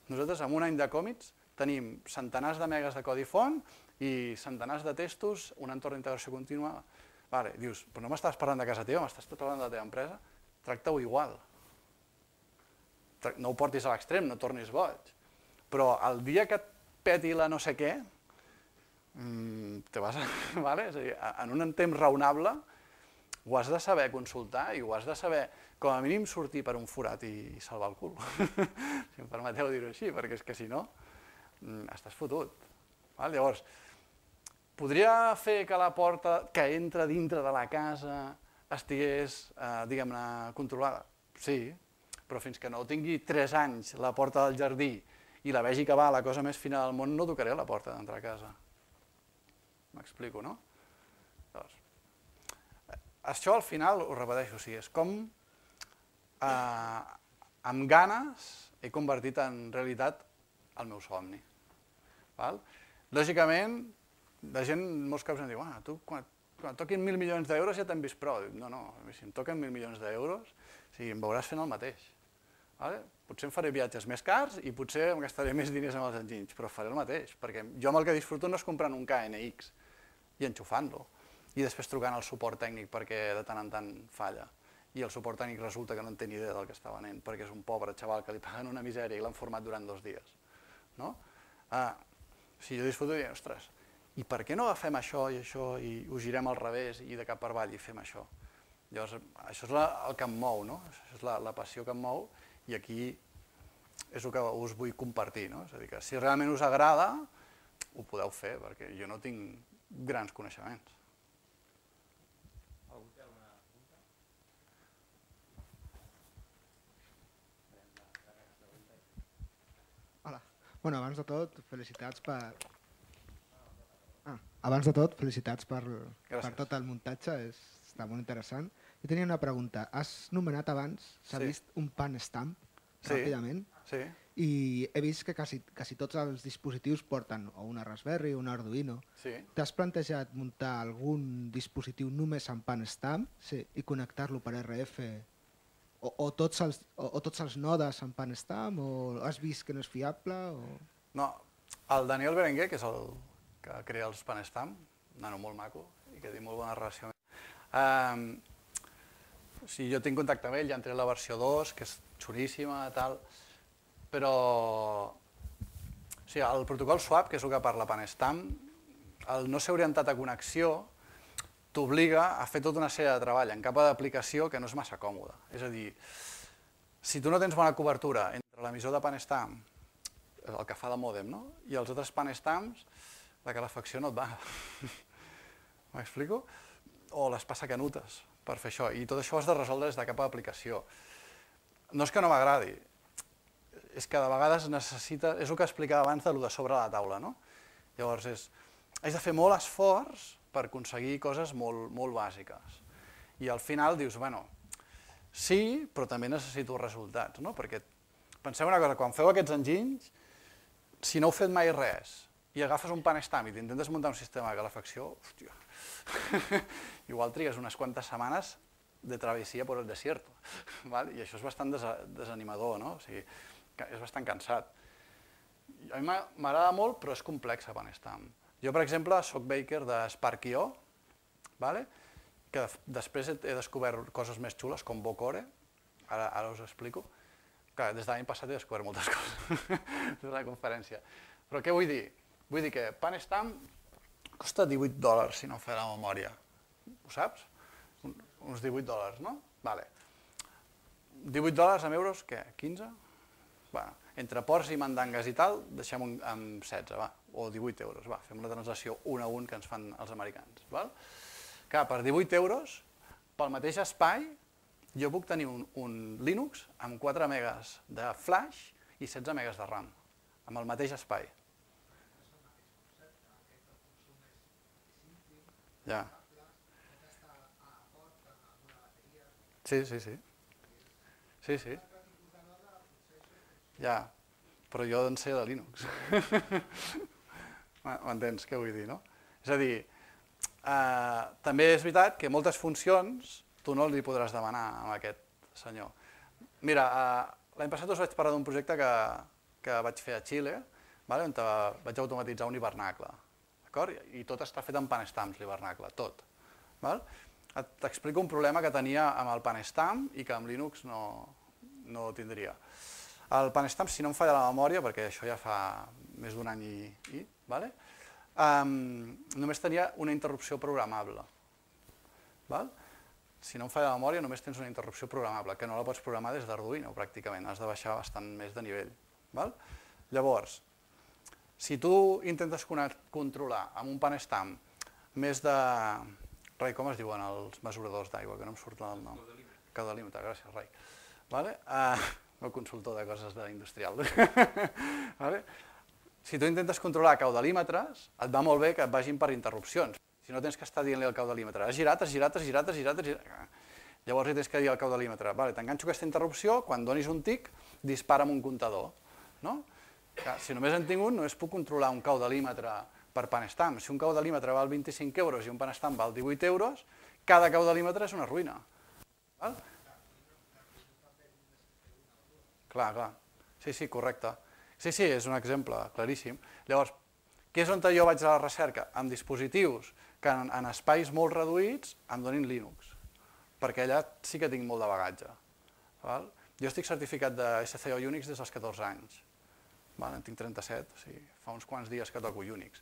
nosaltres en un any de Commits tenim centenars de megas de codi font i centenars de testos, un entorn d'integració contínua. Dius, però no m'estàs parlant de casa teva, m'estàs parlant de la teva empresa? Tracta-ho igual. No ho portis a l'extrem, no tornis boig. Però el dia que et peti la no sé què, te vas a... És a dir, en un temps raonable ho has de saber consultar i ho has de saber, com a mínim, sortir per un forat i salvar el cul. Si em permeteu dir-ho així, perquè és que si no, estàs fotut. Llavors, podria fer que la porta que entra dintre de la casa estigués, diguem-ne, controlada? Sí, però fins que no tingui 3 anys la porta del jardí i la vegi que va la cosa més fina del món, no tocaré la porta d'entrar a casa. M'explico, no? Això al final, ho repeteixo, és com amb ganes he convertit en realitat el meu somni. Lògicament, la gent molts cops em diu, tu quan toquin 1.000 milions d'euros ja t'han vist prou. No, si em toquen 1.000 milions d'euros, em veuràs fent el mateix. Potser em faré viatges més cars i potser em gastaré més diners amb els enginys, però faré el mateix, perquè jo amb el que disfruto no és comprant un KNX i enxufant-lo, i després trucant al suport tècnic perquè de tant en tant falla, i el suport tècnic resulta que no en té ni idea del que està venent, perquè és un pobre xaval que li paguen una misèria i l'han format durant 2 dies. Si jo disfruto i dic, ostres, i per què no agafem això i ho girem al revés i de cap per avall i fem això? Llavors, això és el que em mou, això és la passió que em mou, i aquí és el que us vull compartir. És a dir, que si realment us agrada, ho podeu fer, perquè jo no tinc grans coneixements. Algú té alguna pregunta? Hola. Bueno, abans de tot, felicitats per tot el muntatge, està molt interessant. Jo tenia una pregunta. Has nomenat abans, s'ha vist un pan stamp, ràpidament, i he vist que quasi tots els dispositius porten o una Raspberry o un Arduino. T'has plantejat muntar algun dispositiu només amb pan stamp i connectar-lo per RF o tots els nodes amb pan stamp, o has vist que no és fiable? No, el Daniel Berenguer, que és el que crea els pan stamp, un nano molt maco i que té molt bona relació amb ell. Jo tinc contacte amb ell, ja han tret la versió 2, que és xuríssima, però el protocol SWAP, que és el que parla PanStamp, el no ser orientat a connexió t'obliga a fer tota una sèrie de treball en capa d'aplicació que no és massa còmode. És a dir, si tu no tens bona cobertura entre l'emissor de PanStamp, el que fa de mòdem, i els altres PanStamps, la calefacció no et va. M'explico? O les passacanutes per fer això, i tot això ho has de resoldre des de cap d'aplicació. No és que no m'agradi, és que de vegades necessita, és el que explicava abans de sobre la taula, no? Llavors, has de fer molt esforç per aconseguir coses molt bàsiques. I al final dius, bueno, sí, però també necessito resultats, no? Perquè penseu una cosa, quan feu aquests enginys, si no heu fet mai res i agafes un PanStamp i t'intentes muntar un sistema de calefacció, hòstia, igual trigues unes quantes setmanes de travessia per el desierto, i això és bastant desanimador, no? O sigui, és bastant cansat. A mi m'agrada molt, però és complex a PanStamp. Jo, per exemple, soc baker de Spark.io, que després he descobert coses més xules, com Bocore, ara us ho explico. Clar, des de l'any passat he descobert moltes coses, des de la conferència. Però què vull dir? Vull dir que PanStamp costa $18, si no em fa la memòria. Ho saps? Uns $18, no? Vale. $18 en euros, què? 15? Bueno, entre ports i mandangues i tal, deixem en 16, va, o 18 euros, va, fem la translació 1 a 1 que ens fan els americans, val? Clar, per 18 euros, pel mateix espai, jo puc tenir un Linux amb 4 megas de flash i 16 megas de RAM, amb el mateix espai. Ja. Sí. Sí. Ja, però jo en sé de Linux. M'entens què vull dir, no? És a dir, també és veritat que moltes funcions tu no li podràs demanar a aquest senyor. Mira, l'any passat us vaig parlar d'un projecte que vaig fer a Xile, on vaig automatitzar un hivernacle. I tot està fet amb PanStamps, l'hivernacle, tot. T'explico un problema que tenia amb el PanStamp i que amb Linux no tindria. El PanStamp, si no em falla la memòria, perquè això ja fa més d'un any i només tenia una interrupció programable. Si no em falla la memòria, només tens una interrupció programable, que no la pots programar des d'Arduino, pràcticament, has de baixar bastant més de nivell. Llavors, si tu intentes controlar amb un PanStamp més de... Rai, com es diuen els mesuradors d'aigua, que no em surt el nom? Caudalímetre, gràcies, Rai. El consultor de coses industrial. Si tu intentes controlar caudalímetres, et va molt bé que et vagin per interrupcions. Si no tens que estar dient-li al caudalímetre, has girat. Llavors hi tens que dir al caudalímetre, t'enganxo aquesta interrupció, quan donis un tic, dispara amb un comptador. Si només en tinc un, només puc controlar un caudalímetre per PanStamp. Si un caudalímetre val 25 euros i un PanStamp val 18 euros, cada caudalímetre és una ruïna. Clar. Sí, correcte. Sí, és un exemple claríssim. Llavors, què és on jo vaig a la recerca? Amb dispositius que en espais molt reduïts em donin Linux, perquè allà sí que tinc molt de bagatge. Jo estic certificat de SCO Unix des dels 14 anys. En tinc 37, o sigui, fa uns quants dies que toco Unix.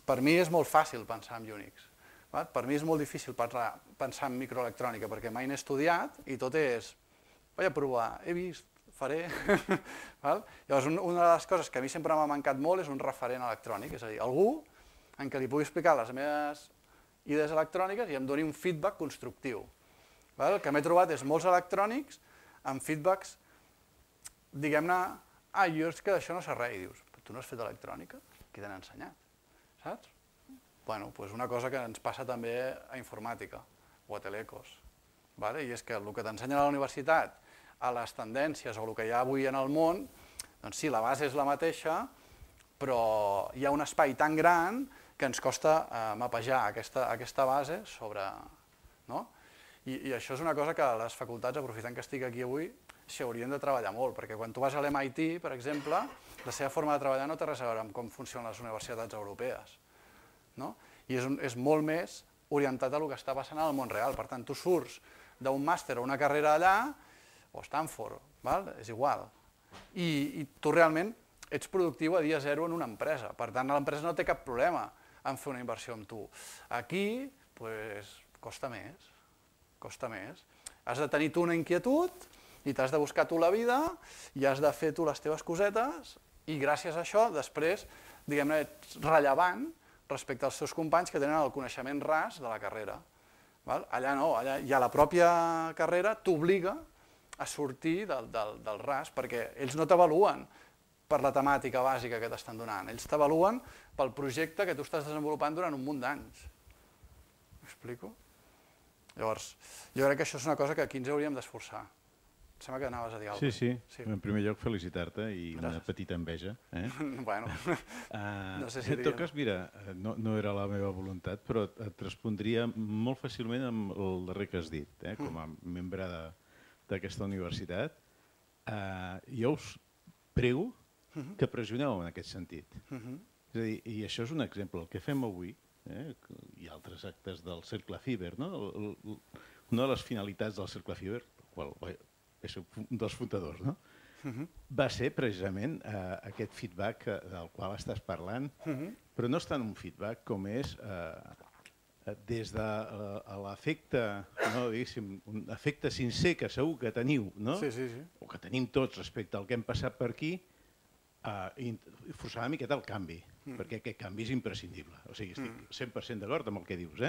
Per mi és molt fàcil pensar en Unix. Per mi és molt difícil pensar en microelectrònica, perquè mai n'he estudiat i tot és... Vaig a provar, he vist, faré... Llavors, una de les coses que a mi sempre m'ha mancat molt és un referent electrònic, és a dir, algú en què li pugui explicar les meves idees electròniques i em doni un feedback constructiu. El que m'he trobat és molts electrònics amb feedbacks, diguem-ne, jo és que d'això no sé res, i dius, però tu no has fet electrònica? Qui t'han ensenyat? Saps? Bueno, doncs una cosa que ens passa també a informàtica o a telecos. I és que el que t'ensenyen a la universitat, a les tendències o el que hi ha avui en el món, doncs sí, la base és la mateixa, però hi ha un espai tan gran que ens costa mapejar aquesta base sobre... I això és una cosa que les facultats, aprofitant que estic aquí avui, s'hi haurien de treballar molt, perquè quan tu vas a l'MIT, per exemple, la seva forma de treballar no té res a veure amb com funcionen les universitats europees. I és molt més orientat a el que està passant al món real. Per tant, tu surts d'un màster o una carrera allà, o Stanford, és igual. I tu realment ets productiu a dia zero en una empresa. Per tant, l'empresa no té cap problema en fer una inversió amb tu. Aquí, doncs, costa més. Has de tenir tu una inquietud i t'has de buscar tu la vida i has de fer tu les teves cosetes i gràcies a això després, diguem-ne, ets rellevant respecte als teus companys que tenen el coneixement ras de la carrera. Allà no, allà ja la pròpia carrera t'obliga a sortir del ras perquè ells no t'avaluen per la temàtica bàsica que t'estan donant, ells t'avaluen pel projecte que tu estàs desenvolupant durant un munt d'anys. M'explico? Llavors, jo crec que això és una cosa que aquí ens hauríem d'esforçar. sembla que anaves a dir alguna cosa. Sí. En primer lloc, felicitar-te i una petita enveja. Bueno, no sé si en tot cas, mira, no era la meva voluntat, però et respondria molt fàcilment amb el darrer que has dit, com a membre d'aquesta universitat. Jo us prego que pressioneu en aquest sentit. És a dir, i això és un exemple. El que fem avui, i altres actes del Cercle Fiber, una de les finalitats del Cercle Fiber, qual és un dels fundadors, va ser precisament aquest feedback del qual estàs parlant, però no és tant un feedback com és des de l'efecte, un efecte sincer que segur que teniu, o que tenim tots respecte al que hem passat per aquí, i forçar una miqueta el canvi, perquè aquest canvi és imprescindible. O sigui, estic 100% d'acord amb el que dius,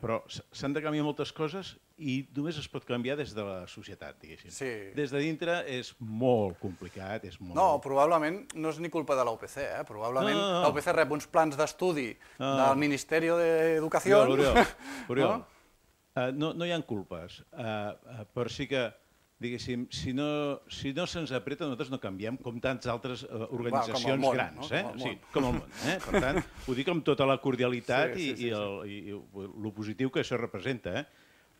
però s'han de canviar moltes coses i només es pot canviar des de la societat, diguéssim. Des de dintre és molt complicat, és molt... No, probablement no és ni culpa de la UPC, probablement la UPC rep uns plans d'estudi del Ministeri d'Educació... Oriol, no hi ha culpes, però sí que diguéssim, si no se'ns apreta, nosaltres no canviem, com tantes altres organitzacions grans, com el món. Per tant, ho dic amb tota la cordialitat i el positiu que això representa.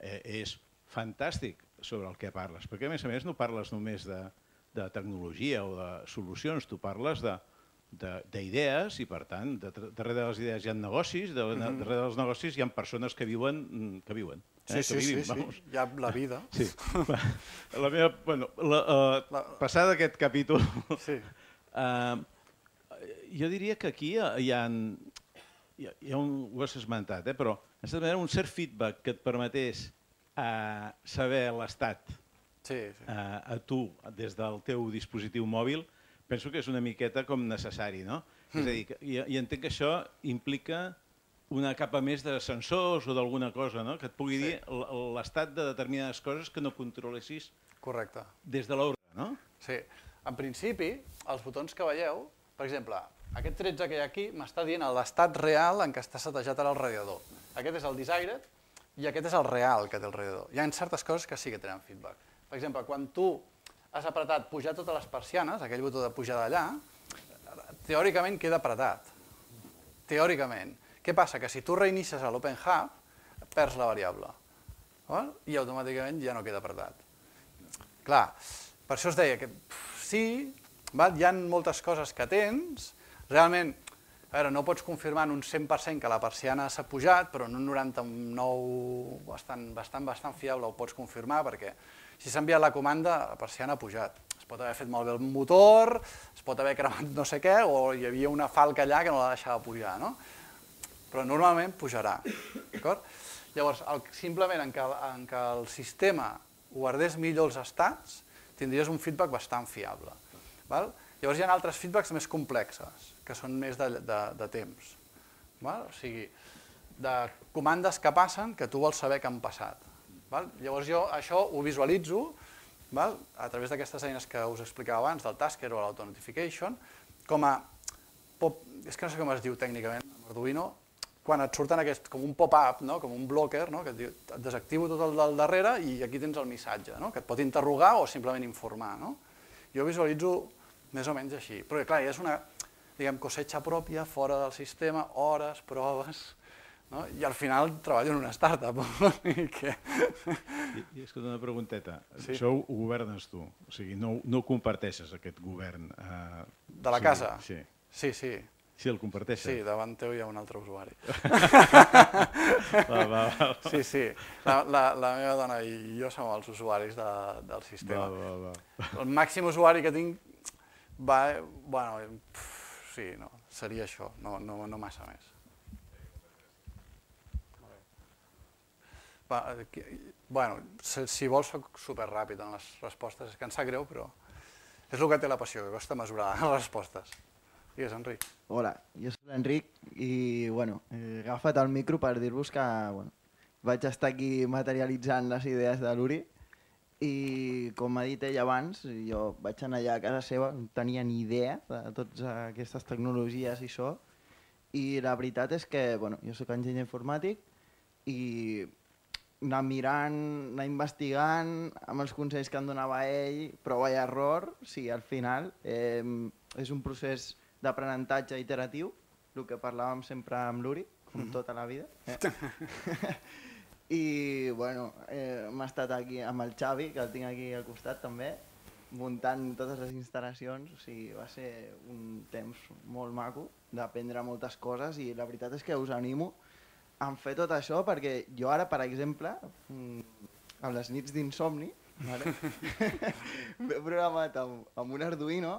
És fantàstic sobre el que parles, perquè a més no parles només de tecnologia o de solucions, tu parles d'idees i, per tant, darrere de les idees hi ha negocis, darrere dels negocis hi ha persones que viuen. Sí, hi ha la vida. Passat aquest capítol, jo diria que aquí hi ha ho has esmentat, però en certa manera un cert feedback que et permetés saber l'estat a tu des del teu dispositiu mòbil, penso que és una miqueta com necessari, no? És a dir, i entenc que això implica una capa més de sensors o d'alguna cosa, que et pugui dir l'estat de determinades coses que no controlessis des de l'ordre, no? Sí. En principi, els botons que veieu, per exemple, aquest 13 que hi ha aquí m'està dient l'estat real en què està setejat ara el radiador. Aquest és el desired i aquest és el real que té el radiador. Hi ha certes coses que sí que tenen feedback. Per exemple, quan tu has apretat pujar totes les persianes, aquell botó de pujar d'allà, teòricament queda apretat. Teòricament. Què passa? Que si tu reinicies a l'OpenHub, perds la variable. I automàticament ja no queda apretat. Clar, per això es deia que sí, hi ha moltes coses que tens, realment, no pots confirmar en un 100% que la persiana s'ha pujat, però en un 99% bastant fiable ho pots confirmar, perquè si s'ha enviat la comanda, la persiana ha pujat. Es pot haver fet malbé el motor, es pot haver cremat no sé què, o hi havia una falca allà que no la deixava pujar, no? Però normalment pujarà. Llavors, simplement en què el sistema guardés millor els estats, tindries un feedback bastant fiable. Llavors hi ha altres feedbacks més complexes, que són més de temps. O sigui, de comandes que passen que tu vols saber que han passat. Llavors jo això ho visualitzo a través d'aquestes eines que us explicava abans, del Tasker o l'Auto-Notification, com a... És que no sé com es diu tècnicament, Arduino, quan et surten com un pop-up, com un blocker, que et diu et desactivo tot el del darrere i aquí tens el missatge, que et pot interrogar o simplement informar. Jo visualitzo més o menys així, però clar, és una cosetxa pròpia, fora del sistema, hores, proves, i al final treballo en una startup. I escolta, una pregunteta, això ho governes tu, o sigui, no comparteixes aquest govern? De la casa? Sí. Sí. Sí, el comparteixes? Sí, davant teu hi ha un altre usuari. Sí. La meva dona i jo som els usuaris del sistema. El màxim usuari que tinc seria això, no massa més. Si vols soc superràpid en les respostes, és que em sap greu, però és el que té la passió, que costa mesurar les respostes. Digues, Enric. Hola, jo soc l'Enric i he agafat el micro per dir-vos que vaig estar aquí materialitzant les idees de l'Uri i com ha dit ell abans, jo vaig anar allà a casa seva, no tenia ni idea de totes aquestes tecnologies i això, i la veritat és que jo soc enginyer informàtic i anar mirant, anar investigant amb els consells que em donava ell, prova i error, sí, al final és un procés d'aprenentatge iteratiu, el que parlàvem sempre amb l'Uri, com tota la vida. I bueno, hem estat aquí amb el Xavi, que el tinc aquí al costat també, muntant totes les instal·lacions, o sigui, va ser un temps molt maco d'aprendre moltes coses i la veritat és que us animo a fer tot això perquè jo ara, per exemple, a les nits d'insomni, m'he programat amb un Arduino,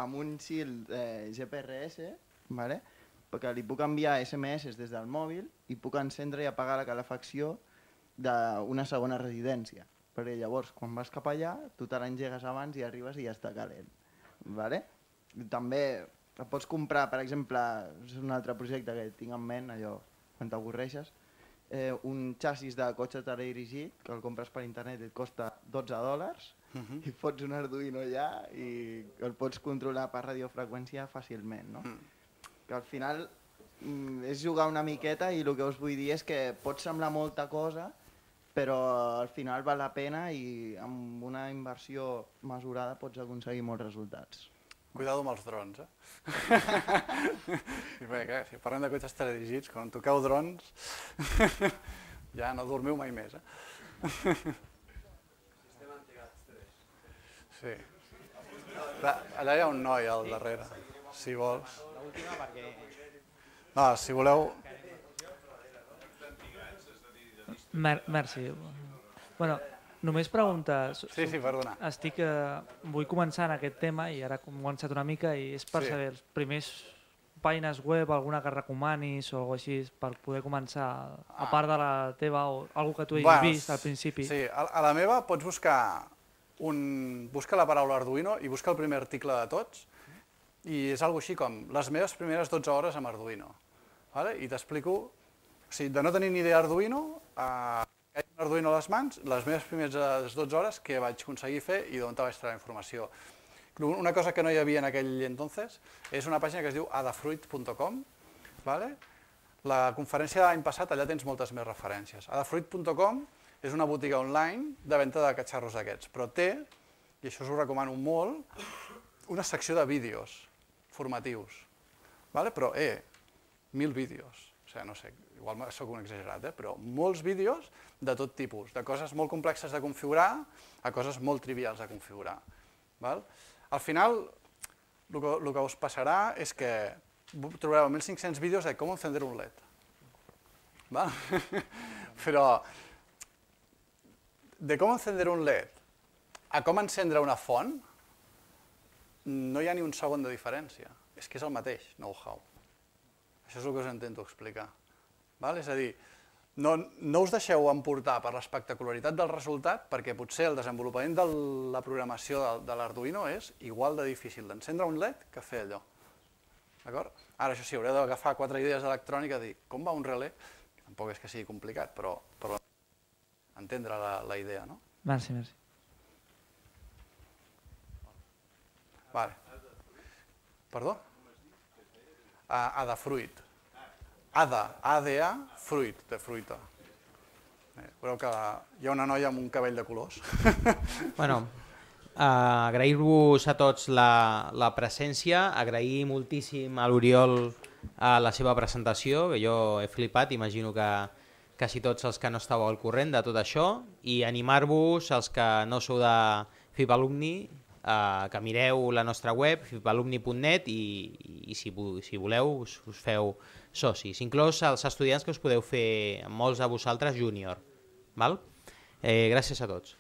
amb un shield GPRS, perquè li puc enviar SMS des del mòbil i puc encendre i apagar la calefacció d'una segona residència. Perquè llavors, quan vas cap allà, tu te l'engegues abans i arribes i ja està calent. També et pots comprar, per exemple, és un altre projecte que tinc en ment, allò, quan t'avorreixes, un xassis de cotxe teledirigit, que el compres per internet i et costa $12, i fots un Arduino allà i el pots controlar per radiofreqüència fàcilment. Que al final és jugar una miqueta i el que us vull dir és que pot semblar molta cosa, però al final val la pena i amb una inversió mesurada pots aconseguir molts resultats. Cuidado amb els drons, I bé, si parlem de cotxes teledirigits, quan toqueu drons, ja no dormiu mai més, Sistema antigats 3. Sí. Allà hi ha un noi al darrere, si vols. L'última perquè... No, si voleu... Merci. Bueno, només pregunta... Sí, perdona. Vull començar en aquest tema i ara he començat una mica i és per saber els primers pàgines web, alguna que recomanis o alguna cosa així per poder començar, a part de la teva o alguna que tu hagis vist al principi. Sí, a la meva pots buscar la paraula Arduino i busca el primer article de tots i és alguna així com les meves primeres 12 hores amb Arduino. I t'explico, de no tenir ni idea Arduino, que hi ha un Arduino a les mans, les meves primeres 12 hores que vaig aconseguir fer i d'on vaig treure la informació. Una cosa que no hi havia en aquell entonces és una pàgina que es diu adafruit.com. La conferència de l'any passat, allà tens moltes més referències. Adafruit.com és una botiga online de venda de catxarros d'aquests, però té, i això us ho recomano molt, una secció de vídeos formatius. Però, 1.000 vídeos. O sigui, no sé, igual soc un exagerat, però molts vídeos de tot tipus, de coses molt complexes de configurar a coses molt trivials de configurar. Al final, el que us passarà és que trobareu 1.500 vídeos de com encendre un LED. Però de com encendre un LED a com encendre una font no hi ha ni un segon de diferència. És que és el mateix know-how. Això és el que us intento explicar. És a dir, no us deixeu emportar per l'espectacularitat del resultat perquè potser el desenvolupament de la programació de l'Arduino és igual de difícil d'encendre un LED que fer allò. Ara, això sí, haureu d'agafar 4 idees d'electrònica i dir com va un relé, tampoc és que sigui complicat, però entendre la idea, no? Merci. Perdó? Adafruit. ADA, fruit, de fruita. Veureu que hi ha una noia amb un cabell de colors. Agrair-vos a tots la presència, agrair moltíssim a l'Oriol la seva presentació, que jo he flipat, imagino que quasi tots els que no estàveu al corrent de tot això, i animar-vos, els que no sou de FIPalumni, que mireu la nostra web, fipalumni.net, i si voleu us feu socis, inclòs els estudiants que us podeu fer, molts de vosaltres, júnior. Gràcies a tots.